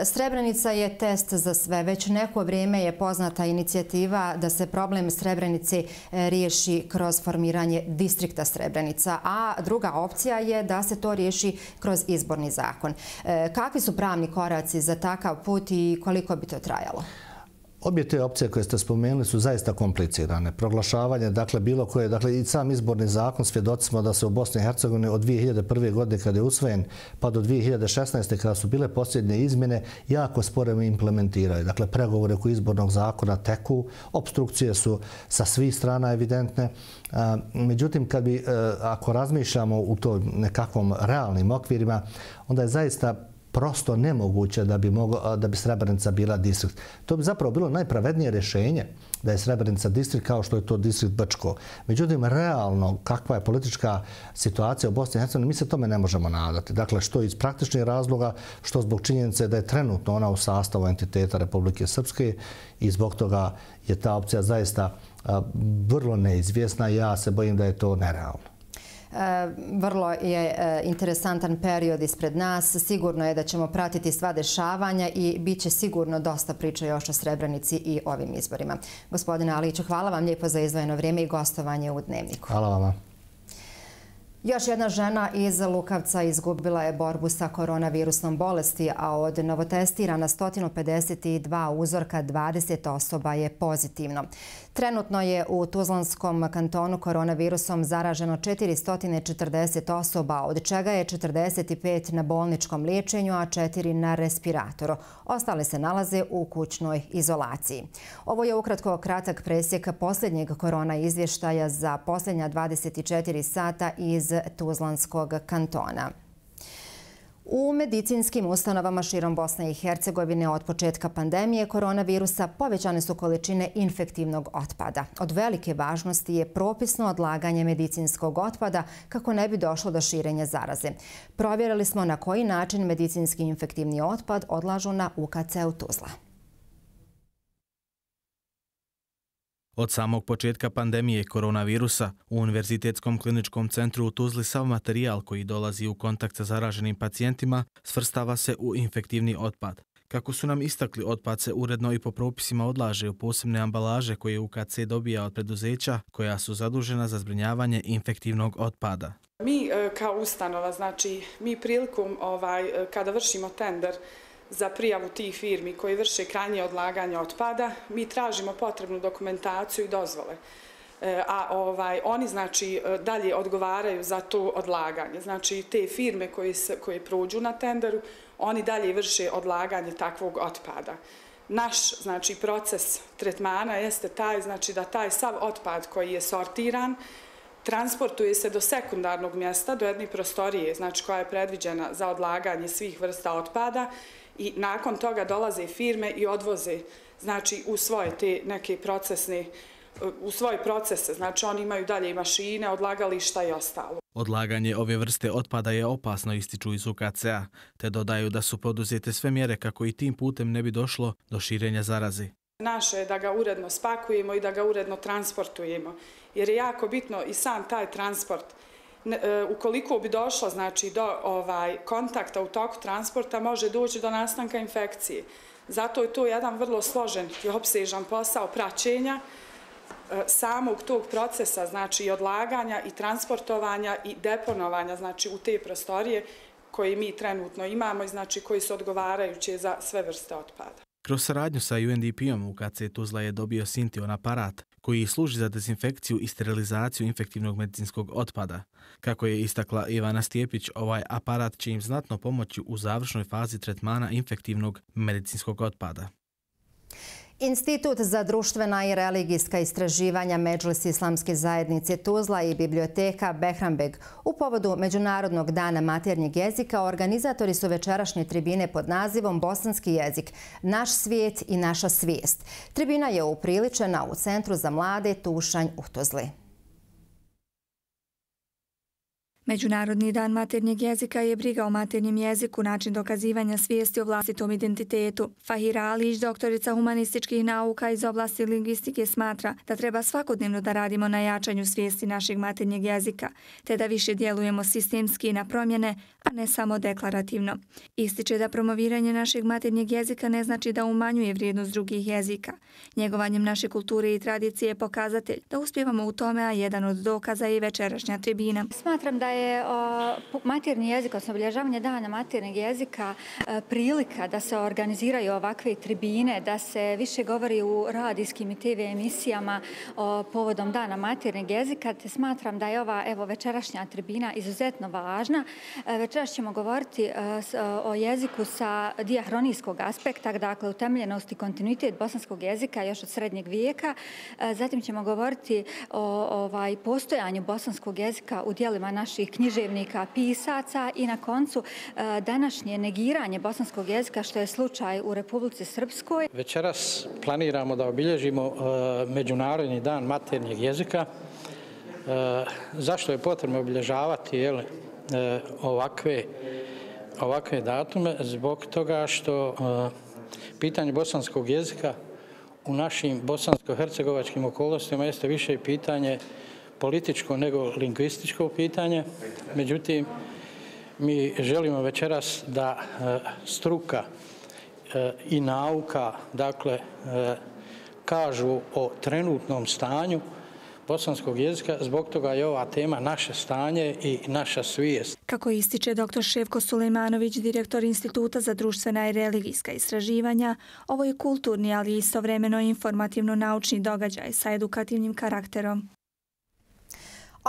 Srebrenica je test za sve. Već neko vrijeme je poznata inicijativa da se problem Srebrenice riješi kroz formiranje distrikta Srebrenica, a druga opcija je da se to riješi kroz izborni zakon. Kakvi su pravni koraci za takav put i koliko bi to trajalo? Obje te opcije koje ste spomenuli su zaista komplicirane. Proglašavanje, dakle, bilo koje, dakle, i sam izborni zakon, svjedoci smo da se u Bosni i Hercegovini od dvije hiljade prve. godine kada je usvojen pa do dvije hiljade šesnaeste. kada su bile posljednje izmjene, jako sporo implementiraju. Dakle, pregovore oko izbornog zakona teku, obstrukcije su sa svih strana evidentne. Međutim, kad bi, ako razmišljamo u to nekakvom realnim okvirima, onda je zaista prosto nemoguće da bi, moglo, da bi Srebrenica bila distrikt. To bi zapravo bilo najpravednije rješenje da je Srebrenica distrikt kao što je to distrikt Brčko. Međutim, realno, kakva je politička situacija u Bosni i Hercegovini, mi se tome ne možemo nadati. Dakle, što iz praktičnih razloga, što zbog činjenice da je trenutno ona u sastavu entiteta Republike Srpske i zbog toga je ta opcija zaista vrlo neizvjesna i ja se bojim da je to nerealno. Vrlo je interesantan period ispred nas. Sigurno je da ćemo pratiti sva dešavanja i bit će sigurno dosta priča još o Srebrenici i ovim izborima. Gospodine Aliću, hvala vam lijepo za izdvojeno vrijeme i gostovanje u Dnevniku. Hvala vam. Još jedna žena iz Lukavca izgubila je borbu sa koronavirusnom bolesti, a od novotestirana sto pedeset dva uzorka dvadeset osoba je pozitivno. Trenutno je u Tuzlanskom kantonu koronavirusom zaraženo četiristo četrdeset osoba, od čega je četrdeset pet na bolničkom liječenju, a četiri na respiratoru. Ostale se nalaze u kućnoj izolaciji. Ovo je ukratko kratak presjek posljednjeg korona izvještaja za posljednja dvadeset četiri sata iz Tuzlanskog kantona. U medicinskim ustanovama širom Bosne i Hercegovine od početka pandemije koronavirusa povećane su količine infektivnog otpada. Od velike važnosti je propisno odlaganje medicinskog otpada kako ne bi došlo do širenja zaraze. Provjerili smo na koji način medicinski infektivni otpad odlažu na U K C u Tuzla. Od samog početka pandemije koronavirusa u Univerzitetskom kliničkom centru u Tuzli sav materijal koji dolazi u kontakt sa zaraženim pacijentima svrstava se u infektivni otpad. Kako su nam istakli, otpad se uredno i po propisima odlaže u posebne ambalaže koje U K C dobija od preduzeća koja su zadužena za zbrinjavanje infektivnog otpada. Mi kao ustanova, znači mi prilikom ovaj, kada vršimo tender za prijavu tih firmi koji vrše krajnje odlaganje otpada, mi tražimo potrebnu dokumentaciju i dozvole. A ovaj, oni znači dalje odgovaraju za to odlaganje. Znači te firme koje, se, koje prođu na tenderu, oni dalje vrše odlaganje takvog otpada. Naš znači proces tretmana jeste taj, znači da taj sav otpad koji je sortiran transportuje se do sekundarnog mjesta, do jedne prostorije, znači koja je predviđena za odlaganje svih vrsta otpada, i nakon toga dolaze firme i odvoze znači u svoje te neke procesne u svoje procese, znači oni imaju dalje i mašine, odlagališta i ostalo. Odlaganje ove vrste otpada je opasno, ističu iz U K C-a, te dodaju da su poduzete sve mjere kako i tim putem ne bi došlo do širenja zaraze. Naše je da ga uredno spakujemo i da ga uredno transportujemo, jer je jako bitno i sam taj transport. Ukoliko bi došlo znači, do ovaj, kontakta u toku transporta, može doći do nastanka infekcije. Zato je to jedan vrlo složen i opsežan posao praćenja samog tog procesa, znači i odlaganja i transportovanja i deponovanja znači, u te prostorije koje mi trenutno imamo i znači, koji su odgovarajući za sve vrste otpada. Kroz saradnju sa U N D P-om U K C Tuzla je dobio Sintion aparat koji služi za dezinfekciju i sterilizaciju infektivnog medicinskog otpada. Kako je istakla Ivana Stijepić, ovaj aparat će im znatno pomoći u završnoj fazi tretmana infektivnog medicinskog otpada. Institut za društvena i religijska istraživanja Medžlis Islamske zajednice Tuzla i biblioteka Behrambeg u povodu Međunarodnog dana maternjeg jezika organizatori su večerašnje tribine pod nazivom Bosanski jezik, naš svijet i naša svijest. Tribina je upriličena u Centru za mlade Tušanj u Tuzli. Međunarodni dan maternjeg jezika je briga o maternjem jeziku, način dokazivanja svijesti o vlastitom identitetu. Fahira Alić, doktorica humanističkih nauka iz oblasti lingvistike, smatra da treba svakodnevno da radimo na jačanju svijesti našeg maternjeg jezika, te da više djelujemo sistemski na promjene, a ne samo deklarativno. Ističe da promoviranje našeg maternjeg jezika ne znači da umanjuje vrijednost drugih jezika. Njegovanjem naše kulture i tradicije je pokazatelj da uspijevamo u tome, a jedan od dokaza je i večerašnja tribina. Smatram da je maternji jezik, odnosno obilježavanje dana maternjeg jezika, prilika da se organiziraju ovakve tribine, da se više govori u radijskim i te ve emisijama povodom dana maternjeg jezika, te smatram da je ova evo, večerašnja tribina izuzetno važna. Večeras ćemo govoriti o jeziku sa dijahronijskog aspekta, dakle utemeljenost i kontinuitet bosanskog jezika još od srednjeg vijeka. Zatim ćemo govoriti o ovaj, postojanju bosanskog jezika u dijelima naših književnika, pisaca i na koncu današnje negiranje bosanskog jezika, što je slučaj u Republici Srpskoj. Večeras planiramo da obilježimo Međunarodni dan maternjeg jezika. Zašto je potrebno obilježavati jel, ovakve, ovakve datume? Zbog toga što pitanje bosanskog jezika u našim bosansko-hercegovačkim okolnostima jeste više pitanje političko nego lingvističko pitanje. Međutim, mi želimo večeras da struka i nauka, dakle, kažu o trenutnom stanju bosanskog jezika, zbog toga je ova tema naše stanje i naša svijest. Kako ističe doktor Ševko Sulejmanović, direktor Instituta za društvena i religijska istraživanja, ovo je kulturni, ali istovremeno informativno-naučni događaj sa edukativnim karakterom.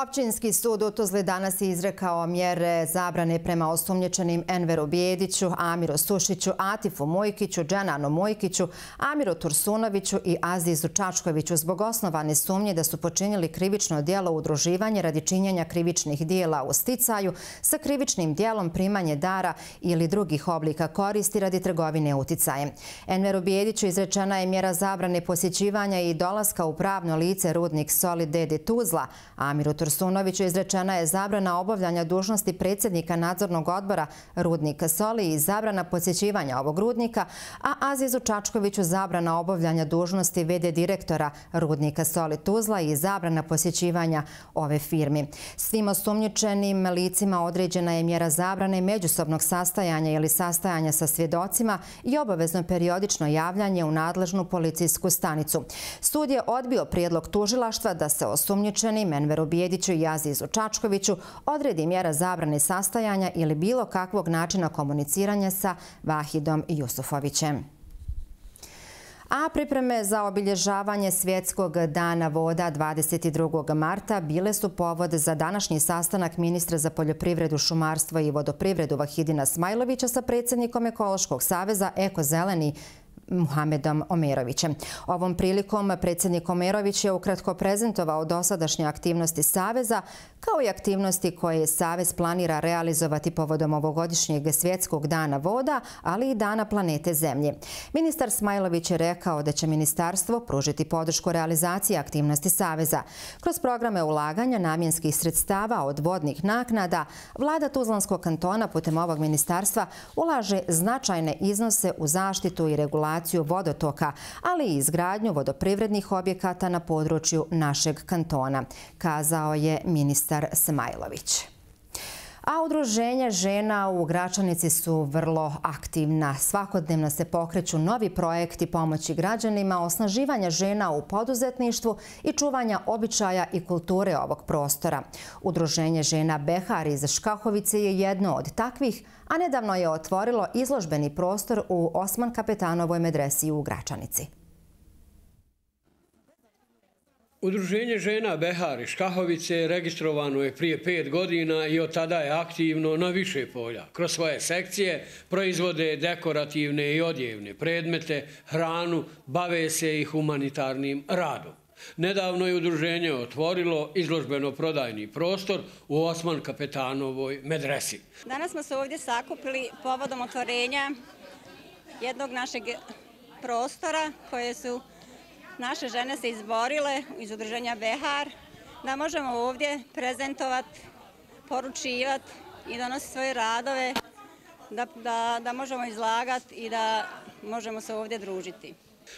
Općinski sud u Tuzli danas je izrekao mjere zabrane prema osumnjičenim Enveru Bijediću, Amiru Sušiću, Atifu Mojkiću, Dženanu Mojkiću, Amiru Tursunoviću i Azizu Čačkoviću zbog osnovane sumnje da su počinili krivično djelo udruživanje radi činjenja krivičnih dijela u sticaju sa krivičnim dijelom primanje dara ili drugih oblika koristi radi trgovine uticajem. Enveru Bijediću izrečena je mjera zabrane posjećivanja i dolaska u pravno lice Rudnik Soli D D Tuzla. Amiru Tursunoviću izrečena je zabrana obavljanja dužnosti predsjednika nadzornog odbora Rudnika Soli i zabrana posjećivanja ovog rudnika, a Azizu Čačkoviću zabrana obavljanja dužnosti ve de direktora Rudnika Soli Tuzla i zabrana posjećivanja ove firmi. Svim osumnjičenim licima određena je mjera zabrane međusobnog sastajanja ili sastajanja sa svjedocima i obavezno periodično javljanje u nadležnu policijsku stanicu. Sud je odbio prijedlog tužilaštva da se osumnjičenim Enveru Bijediću i Azizu Čačkoviću odredi mjera zabrane sastajanja ili bilo kakvog načina komuniciranja sa Vahidom Jusufovićem. A pripreme za obilježavanje Svjetskog dana voda dvadeset drugog marta bile su povod za današnji sastanak ministra za poljoprivredu, šumarstvo i vodoprivredu Vahidina Smajlovića sa predsjednikom Ekološkog saveza Eko Zeleni Muhamedom Omerovićem. Ovom prilikom predsjednik Omerović je ukratko prezentovao dosadašnje aktivnosti Saveza, kao i aktivnosti koje Savez planira realizovati povodom ovogodišnjeg Svjetskog dana voda, ali i Dana planete Zemlje. Ministar Smajlović je rekao da će ministarstvo pružiti podršku realizaciji aktivnosti Saveza. Kroz programe ulaganja namjenskih sredstava od vodnih naknada, vlada Tuzlanskog kantona putem ovog ministarstva ulaže značajne iznose u zaštitu i regulaciju vodotoka, ali i izgradnju vodoprivrednih objekata na području našeg kantona, kazao je ministar Smajlović. A udruženja žena u Gračanici su vrlo aktivna. Svakodnevno se pokreću novi projekti pomoći građanima, osnaživanja žena u poduzetništvu i čuvanja običaja i kulture ovog prostora. Udruženje žena Behar iz Škahovice je jedno od takvih, a nedavno je otvorilo izložbeni prostor u Osman Kapetanovoj medresi u Gračanici. Udruženje žena Behar iz Škahovice registrovano je prije pet godina i od tada je aktivno na više polja. Kroz svoje sekcije proizvode dekorativne i odjevne predmete, hranu, bave se i humanitarnim radom. Nedavno je udruženje otvorilo izložbeno-prodajni prostor u Osman Kapetanovoj medresi. Danas smo se ovdje sakupili povodom otvorenja jednog našeg prostora koje su naše žene se izborile iz udruženja Behar da možemo ovdje prezentovati poručivati i donositi svoje radove, da, da, da možemo izlagati i da možemo se ovdje družiti.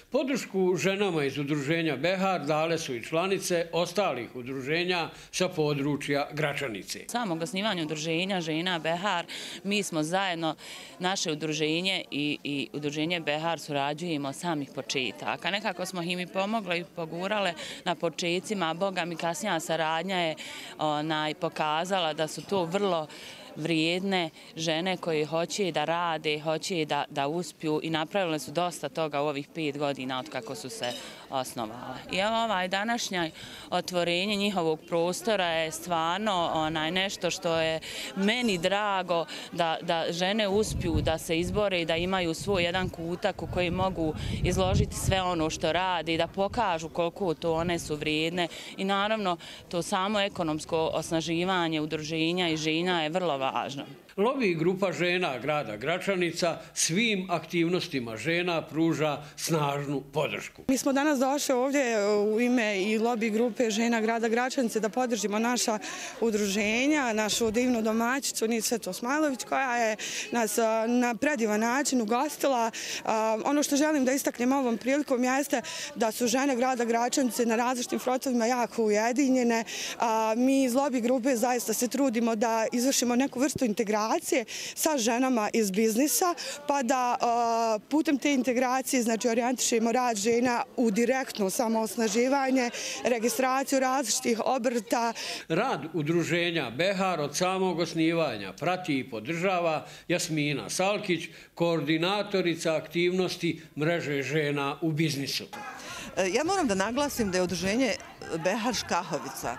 Podršku ženama iz udruženja Behar dale su i članice ostalih udruženja sa područja Gračanice. Samog osnivanja udruženja žena Behar, mi smo zajedno, naše udruženje i, i udruženje Behar surađujemo samih početaka. Nekako smo im i pomogle i pogurale na početcima, a Boga mi kasnija saradnja je onaj, pokazala da su to vrlo vrijedne žene koje hoće da rade, hoće da, da uspiju i napravile su dosta toga u ovih pet godina od kako su se osnovale. I evo ovaj današnje otvorenje njihovog prostora je stvarno onaj nešto što je meni drago da, da žene uspiju da se izbore i da imaju svoj jedan kutak u koji mogu izložiti sve ono što rade i da pokažu koliko to one su vrijedne i naravno to samo ekonomsko osnaživanje udruženja i žena je vrlo važno. Lobby grupa žena grada Gračanica svim aktivnostima žena pruža snažnu podršku. Mi smo danas došli ovdje u ime i lobby grupe žena grada Gračanice da podržimo naša udruženja, našu divnu domaćicu Nicetu Osmajlović koja je nas na predivan način ugostila. Ono što želim da istaknem ovom prilikom jeste da su žene grada Gračanice na različitim frontovima jako ujedinjene. Mi iz lobby grupe zaista se trudimo da izvršimo neku vrstu integracije sa ženama iz biznisa, pa da putem te integracije znači orijentišemo rad žena u direktno samoosnaživanje, registraciju različitih obrta. Rad udruženja Behar od samog osnivanja prati i podržava Jasmina Salkić, koordinatorica aktivnosti mreže žena u biznisu. Ja moram da naglasim da je udruženje Behar Škahovica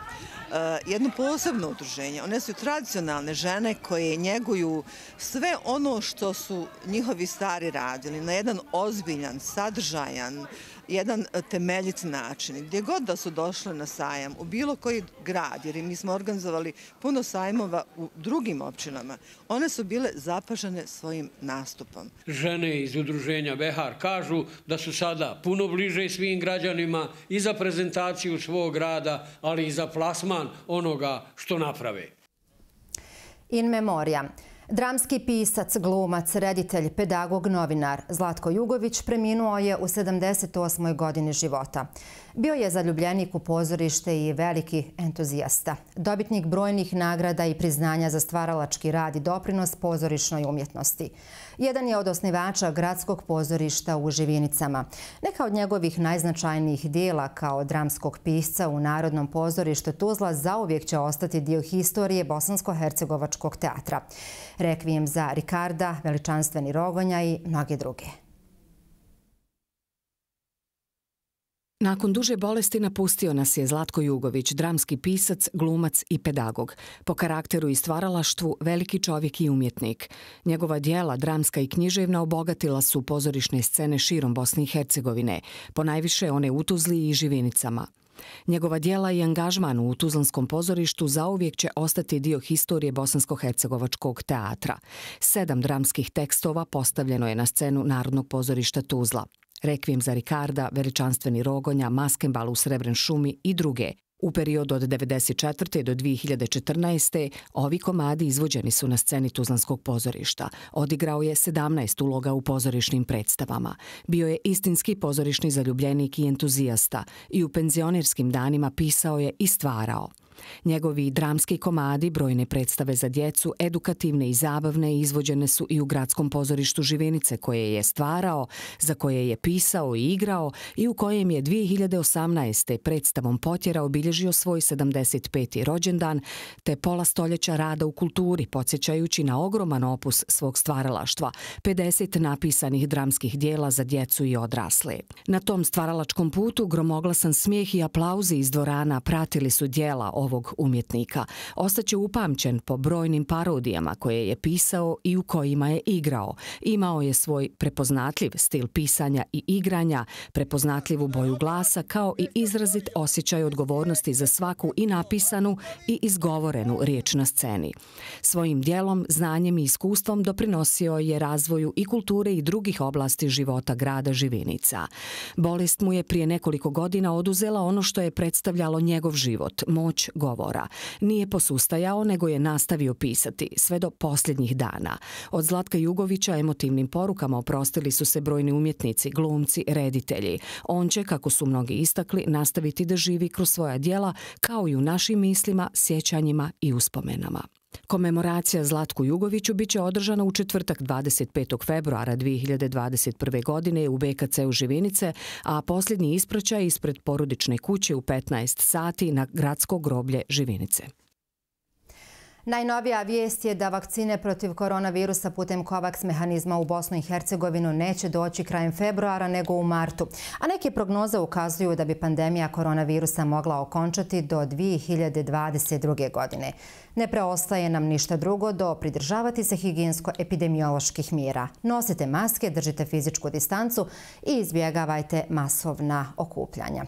jedno posebno udruženje. One su tradicionalne žene koje njeguju sve ono što su njihovi stari radili na jedan ozbiljan, sadržajan, jedan temeljit način. Gdje god da su došle na sajam, u bilo koji grad, jer mi smo organizovali puno sajmova u drugim općinama, one su bile zapažene svojim nastupom. Žene iz udruženja Behar kažu da su sada puno bliže svim građanima i za prezentaciju svog rada, ali i za plasman onoga što naprave. In memoria. Dramski pisac, glumac, reditelj, pedagog, novinar Zlatko Jugović preminuo je u sedamdeset osmoj godini života. Bio je zaljubljenik u pozorište i veliki entuzijasta. Dobitnik brojnih nagrada i priznanja za stvaralački rad i doprinos pozorišnoj umjetnosti. Jedan je od osnivača Gradskog pozorišta u Živinicama. Neka od njegovih najznačajnijih dijela kao dramskog pisca u Narodnom pozorištu Tuzla zauvijek će ostati dio historije Bosansko-hercegovačkog teatra. Rekvijem za Rikarda, Veličanstveni Rogonja i mnoge druge. Nakon duže bolesti napustio nas je Zlatko Jugović, dramski pisac, glumac i pedagog. Po karakteru i stvaralaštvu veliki čovjek i umjetnik. Njegova dijela, dramska i književna, obogatila su pozorišne scene širom Bosne i Hercegovine, ponajviše one u Tuzli i Živinicama. Njegova dijela i angažman u Tuzlanskom pozorištu zauvijek će ostati dio historije Bosansko-hercegovačkog teatra. Sedam dramskih tekstova postavljeno je na scenu Narodnog pozorišta Tuzla. Rekvijem za Rikarda, Veličanstveni Rogonja, Maskembal u Srebren šumi i druge. U periodu od devedeset četvrte do dvije hiljade četrnaeste. ovi komadi izvođeni su na sceni Tuzlanskog pozorišta. Odigrao je sedamnaest uloga u pozorišnim predstavama. Bio je istinski pozorišni zaljubljenik i entuzijasta i u penzionerskim danima pisao je i stvarao. Njegovi dramski komadi, brojne predstave za djecu, edukativne i zabavne, izvođene su i u Gradskom pozorištu Živinice koje je stvarao, za koje je pisao i igrao i u kojem je dvije hiljade osamnaeste. predstavom Potjera obilježio svoj sedamdeset peti rođendan te pola stoljeća rada u kulturi, podsjećajući na ogroman opus svog stvaralaštva, pedeset napisanih dramskih dijela za djecu i odrasle. Na tom stvaralačkom putu gromoglasan smijeh i aplauzi iz dvorana pratili su dijela ovog umjetnika. Ostaće upamćen po brojnim parodijama koje je pisao i u kojima je igrao. Imao je svoj prepoznatljiv stil pisanja i igranja, prepoznatljivu boju glasa kao i izrazit osjećaj odgovornosti za svaku i napisanu i izgovorenu riječ na sceni. Svojim dijelom, znanjem i iskustvom doprinosio je razvoju i kulture i drugih oblasti života grada Živinica. Bolest mu je prije nekoliko godina oduzela ono što je predstavljalo njegov život, moć govora. Nije posustajao, nego je nastavio pisati, sve do posljednjih dana. Od Zlatka Jugovića emotivnim porukama oprostili su se brojni umjetnici, glumci, reditelji. On će, kako su mnogi istakli, nastaviti da živi kroz svoja djela, kao i u našim mislima, sjećanjima i uspomenama. Komemoracija Zlatku Jugoviću biće održana u četvrtak dvadeset petog februara dvije hiljade dvadeset prve. godine u B K C-u Živinice, a posljednji ispraćaj ispred porodične kuće u petnaest sati na gradsko groblje Živinice. Najnovija vijest je da vakcine protiv koronavirusa putem COVAX mehanizma u Bosnu i Hercegovinu neće doći krajem februara nego u martu, a neke prognoze ukazuju da bi pandemija koronavirusa mogla okončati do dvije hiljade dvadeset druge. godine. Ne preostaje nam ništa drugo do pridržavati se higijensko-epidemioloških mjera. Nosite maske, držite fizičku distancu i izbjegavajte masovna okupljanja.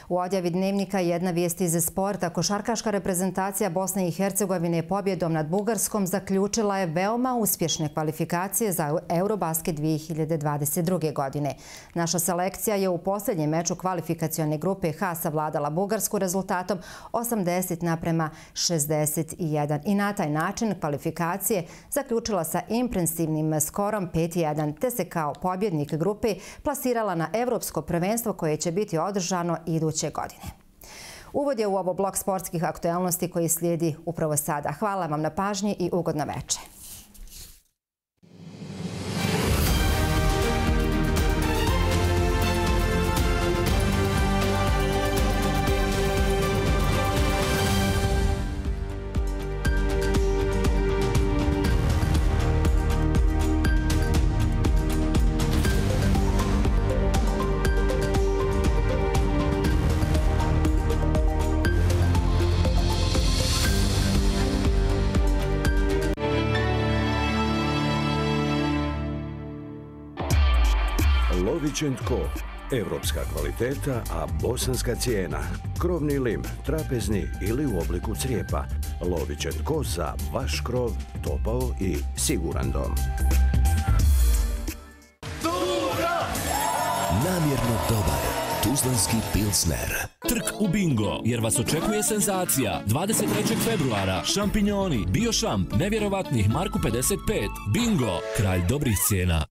U odjavi Dnevnika jedna vijest iz sporta. Košarkaška reprezentacija Bosne i Hercegovine je pobjedom nad Bugarskom zaključila je veoma uspješne kvalifikacije za Eurobasket dvije hiljade dvadeset druge. godine. Naša selekcija je u posljednjem meču kvalifikacione grupe H savladala Bugarsku rezultatom osamdeset naprema šezdeset jedan. I na taj način kvalifikacije zaključila sa impresivnim skorom pet jedan, te se kao pobjednik grupe plasirala na Evropsko prvenstvo koje će biti održano iduće godine. Uvod je u ovo blok sportskih aktualnosti koji slijedi upravo sada. Hvala vam na pažnji i ugodno večer. Lović and Co. Evropska kvaliteta, a bosanska cijena. Krovni lim, trapezni ili u obliku crijepa. Lović and Co. Za vaš krov, topao i siguran dom. Namjerno dobar tuzlanski pilsner. Trk u bingo, jer vas očekuje senzacija. dvadeset trećeg februara, šampinjoni, biošamp, nevjerovatnih Marku pedeset pet. Bingo, kralj dobrih cijena.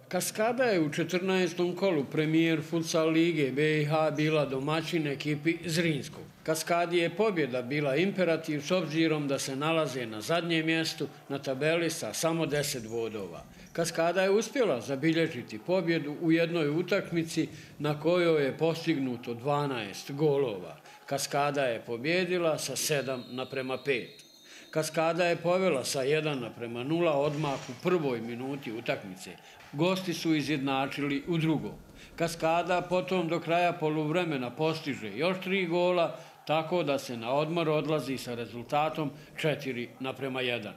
Kaskada je u četrnaestom kolu premijer futsal lige B i H bila domaćin ekipi Zrinskog. Kaskadi je pobjeda bila imperativ s obzirom da se nalaze na zadnjem mjestu na tabeli sa samo deset bodova. Kaskada je uspjela zabilježiti pobjedu u jednoj utakmici na kojoj je postignuto dvanaest golova. Kaskada je pobjedila sa sedam naprema pet. Kaskada je povela sa jedan naprema nula odmah u prvoj minuti utakmice. Gosti su izjednačili u drugom. Kaskada potom do kraja poluvremena postiže još tri gola, tako da se na odmor odlazi sa rezultatom četiri naprema jedan.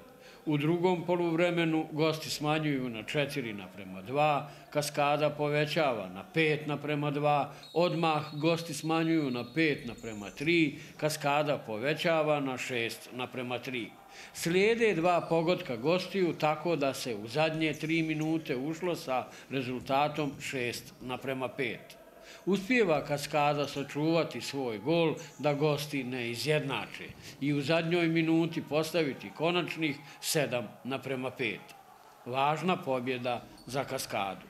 U drugom poluvremenu gosti smanjuju na četiri naprema dva, Kaskada povećava na pet naprema dva, odmah gosti smanjuju na pet naprema tri, Kaskada povećava na šest naprema tri. Slijede dva pogotka gostiju, tako da se u zadnje tri minute ušlo sa rezultatom šest naprema pet. Uspijeva Kaskada sačuvati svoj gol da gosti ne izjednače i u zadnjoj minuti postaviti konačnih sedam naprema pet. Važna pobjeda za Kaskadu.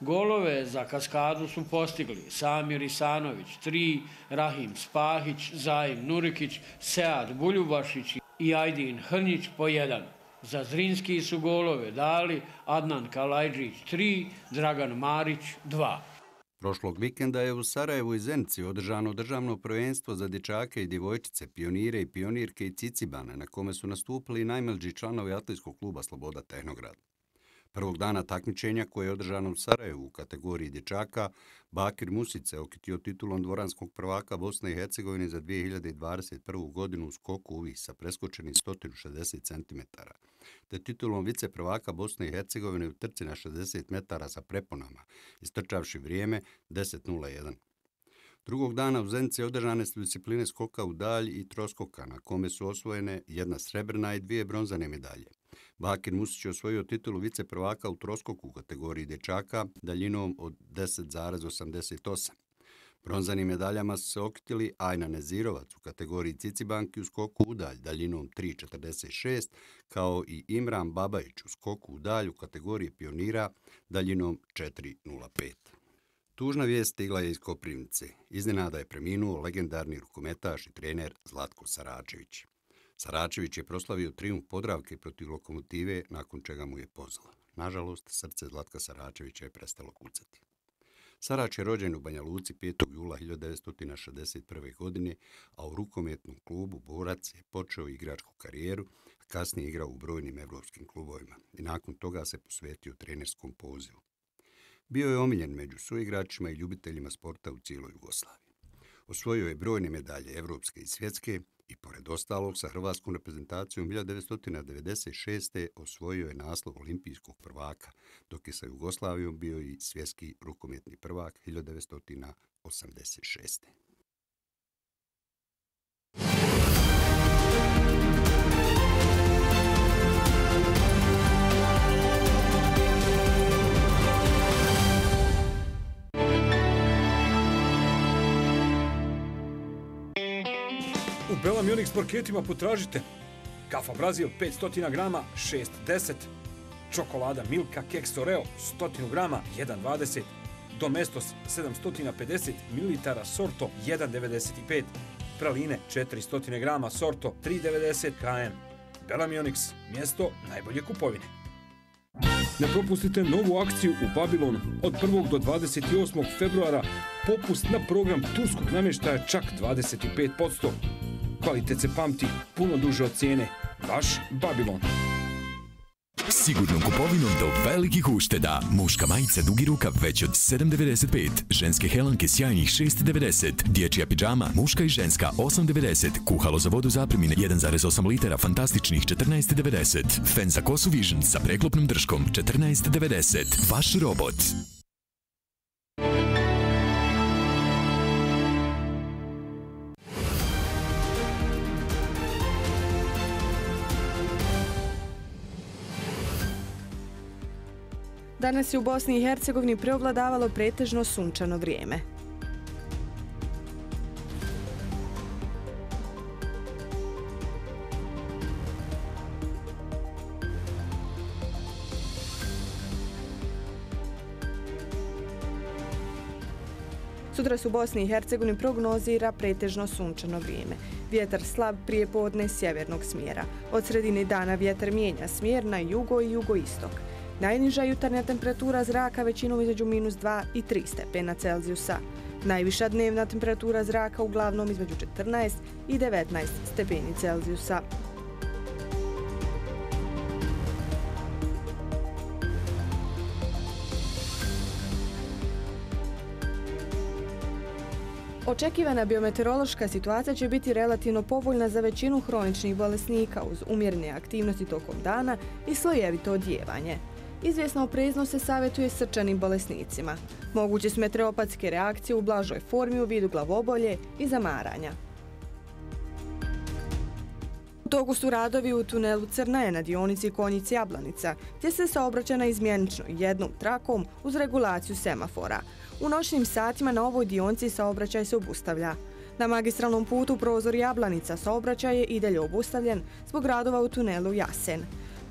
Golove za Kaskadu su postigli Samir Isanović tri, Rahim Spahić, Zajim Nurikić, Sead Buljubašić i Ajdin Hrnjić po jedan. Za Zrinski su golove dali Adnan Kalajđić tri, Dragan Marić dva. Prošlog vikenda je u Sarajevu i Zenici održano državno prvenstvo za dječake i djevojčice, pionire i pionirke i cicibane, na kome su nastupili najmlađi članovi atletskog kluba Sloboda Tehnograd. Prvog dana takmičenja koje je održano u Sarajevu u kategoriji dječaka, Bakir Music se okitio titulom dvoranskog prvaka Bosne i Hercegovine za dvije hiljade dvadeset prvu. godinu u skoku uvih sa preskočenih sto šezdeset centimetara, te titulom vice prvaka Bosne i Hercegovine u trci na šezdeset metara sa preponama, istrčavši vrijeme deset nula jedan. Drugog dana u Zenici održane su discipline skoka u dalj i troskoka, na kome su osvojene jedna srebrna i dvije bronzane medalje. Bakir Musić je osvojio titulu viceprvaka u troskoku u kategoriji dječaka daljinom od deset zarez osamdeset osam. Bronzanim medaljama su se okitili Ajna Nezirovac u kategoriji cicibanki u skoku u dalj daljinom tri zarez četrdeset šest, kao i Imran Babajić u skoku u dalj u kategoriji pionira daljinom četiri zarez nula pet. Tužna vijest stigla je iz Koprivnice. Iznenada je preminuo legendarni rukometaš i trener Zlatko Saračević. Saračević je proslavio trijumf Podravke protiv Lokomotive, nakon čega mu je pozlo. Nažalost, srce Zlatka Saračevića je prestalo kucati. Sarač je rođen u Banja Luci petog jula hiljadu devetsto šezdeset prve. godine, a u rukometnom klubu Borac je počeo igračku karijeru, a kasnije igrao u brojnim evropskim klubovima i nakon toga se posvetio trenerskom pozivu. Bio je omiljen među suigračima i ljubiteljima sporta u cijeloj Jugoslaviji. Osvojio je brojne medalje evropske i svjetske i pored ostalog sa hrvatskom reprezentacijom hiljadu devetsto devedeset šeste. osvojio je naslov olimpijskog prvaka, dok je sa Jugoslavijom bio i svjetski rukometni prvak hiljadu devetsto osamdeset šeste. U Bella Munich paketima potražite kafa Brazil petsto grama šest deset, čokolada Milka Keks Oreo sto grama jedan dvadeset, Domestos sedamsto pedeset mililitara Sorto jedan devedeset pet, praline četiristo grama Sorto tri devedeset km. Bella Munich, mjesto najbolje kupovine. Ne propustite novu akciju u Babilonu. Od prvog do dvadeset osmog februara popust na program turskog namještaja čak dvadeset pet posto. Kvalitet se pamti puno duže od cijene. Vaš Babilon. Sigurnom kupovinom do velikih ušteda. Muška majica dugi rukav već od sedam devedeset pet. Ženske helanke sjajnih šest devedeset. Dječja pidžama muška i ženska osam devedeset. Kuhalo za vodu zapremine jedan zarez osam litara fantastičnih četrnaest devedeset. Fen za kosu Vision sa preklopnom drškom četrnaest devedeset. Vaš robot. Danas je u Bosni i Hercegovini preovladavalo pretežno sunčano vrijeme. Sutra se u Bosni i Hercegovini prognozira pretežno sunčano vrijeme. Vjetar slab prije podne sjevernog smjera. Od sredine dana vjetar mijenja smjer na jugo i jugoistok. Najniža jutarnja temperatura zraka većinom između minus dva i tri stepena Celzijusa. Najviša dnevna temperatura zraka uglavnom između četrnaest i devetnaest stepeni Celzijusa. Očekivana biometeorološka situacija će biti relativno povoljna za većinu hroničnih bolesnika uz umjerene aktivnosti tokom dana i slojevito odjevanje. Izvjesna opreznost se savjetuje srčanim bolesnicima. Moguće su meteoropatske reakcije u blažoj formi u vidu glavobolje i zamaranja. U toku su radovi u tunelu Crnaje na dionici Konjic-Jablanica, gdje se saobraća naizmjenično jednom trakom uz regulaciju semafora. U noćnim satima na ovoj dionici saobraćaj se obustavlja. Na magistralnom putu prozor Jablanica saobraćaj je i dalje obustavljen zbog radova u tunelu Jasen.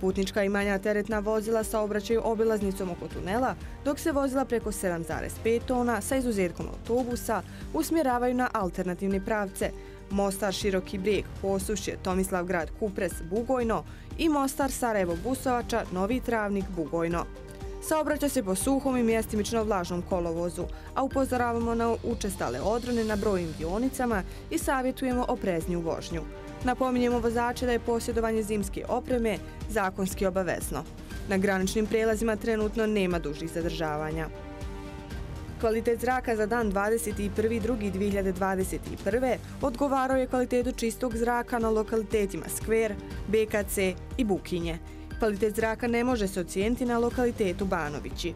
Putnička i manja teretna vozila saobraćaju obilaznicom oko tunela, dok se vozila preko sedam zarez pet tona sa izuzetkom autobusa usmjeravaju na alternativne pravce Mostar Široki Brijeg, Posušje, Tomislavgrad, Kupres, Bugojno i Mostar Sarajevo Busovača, Novi Travnik, Bugojno. Saobraća se po suhom i mjestimično vlažnom kolovozu, a upozoravamo na učestale odrone na brojnim dionicama i savjetujemo oprezniju vožnju. Napominjemo vozače da je posjedovanje zimske opreme zakonski obavezno. Na graničnim prijelazima trenutno nema dužih zadržavanja. Kvalitet zraka za dan dvadeset prvi drugi dvije hiljade dvadeset prve. odgovarao je kvalitetu čistog zraka na lokalitetima Skver, B K C i Bukinje. Kvalitet zraka ne može se ocijeniti na lokalitetu Banovići.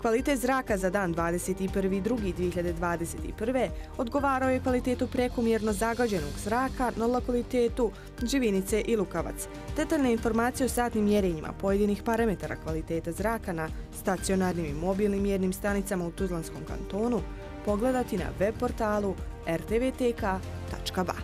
Kvalitet zraka za dan dvadeset prvi drugi dve hiljade dvadeset prve. odgovarao je kvalitetu prekomjerno zagađenog zraka na lokalitetu Živinice i Lukavac. Detaljne informacije o satnim mjerenjima pojedinih parametara kvaliteta zraka na stacionarnim i mobilnim mjernim stanicama u Tuzlanskom kantonu pogledati na web portalu r t v t k tačka b a.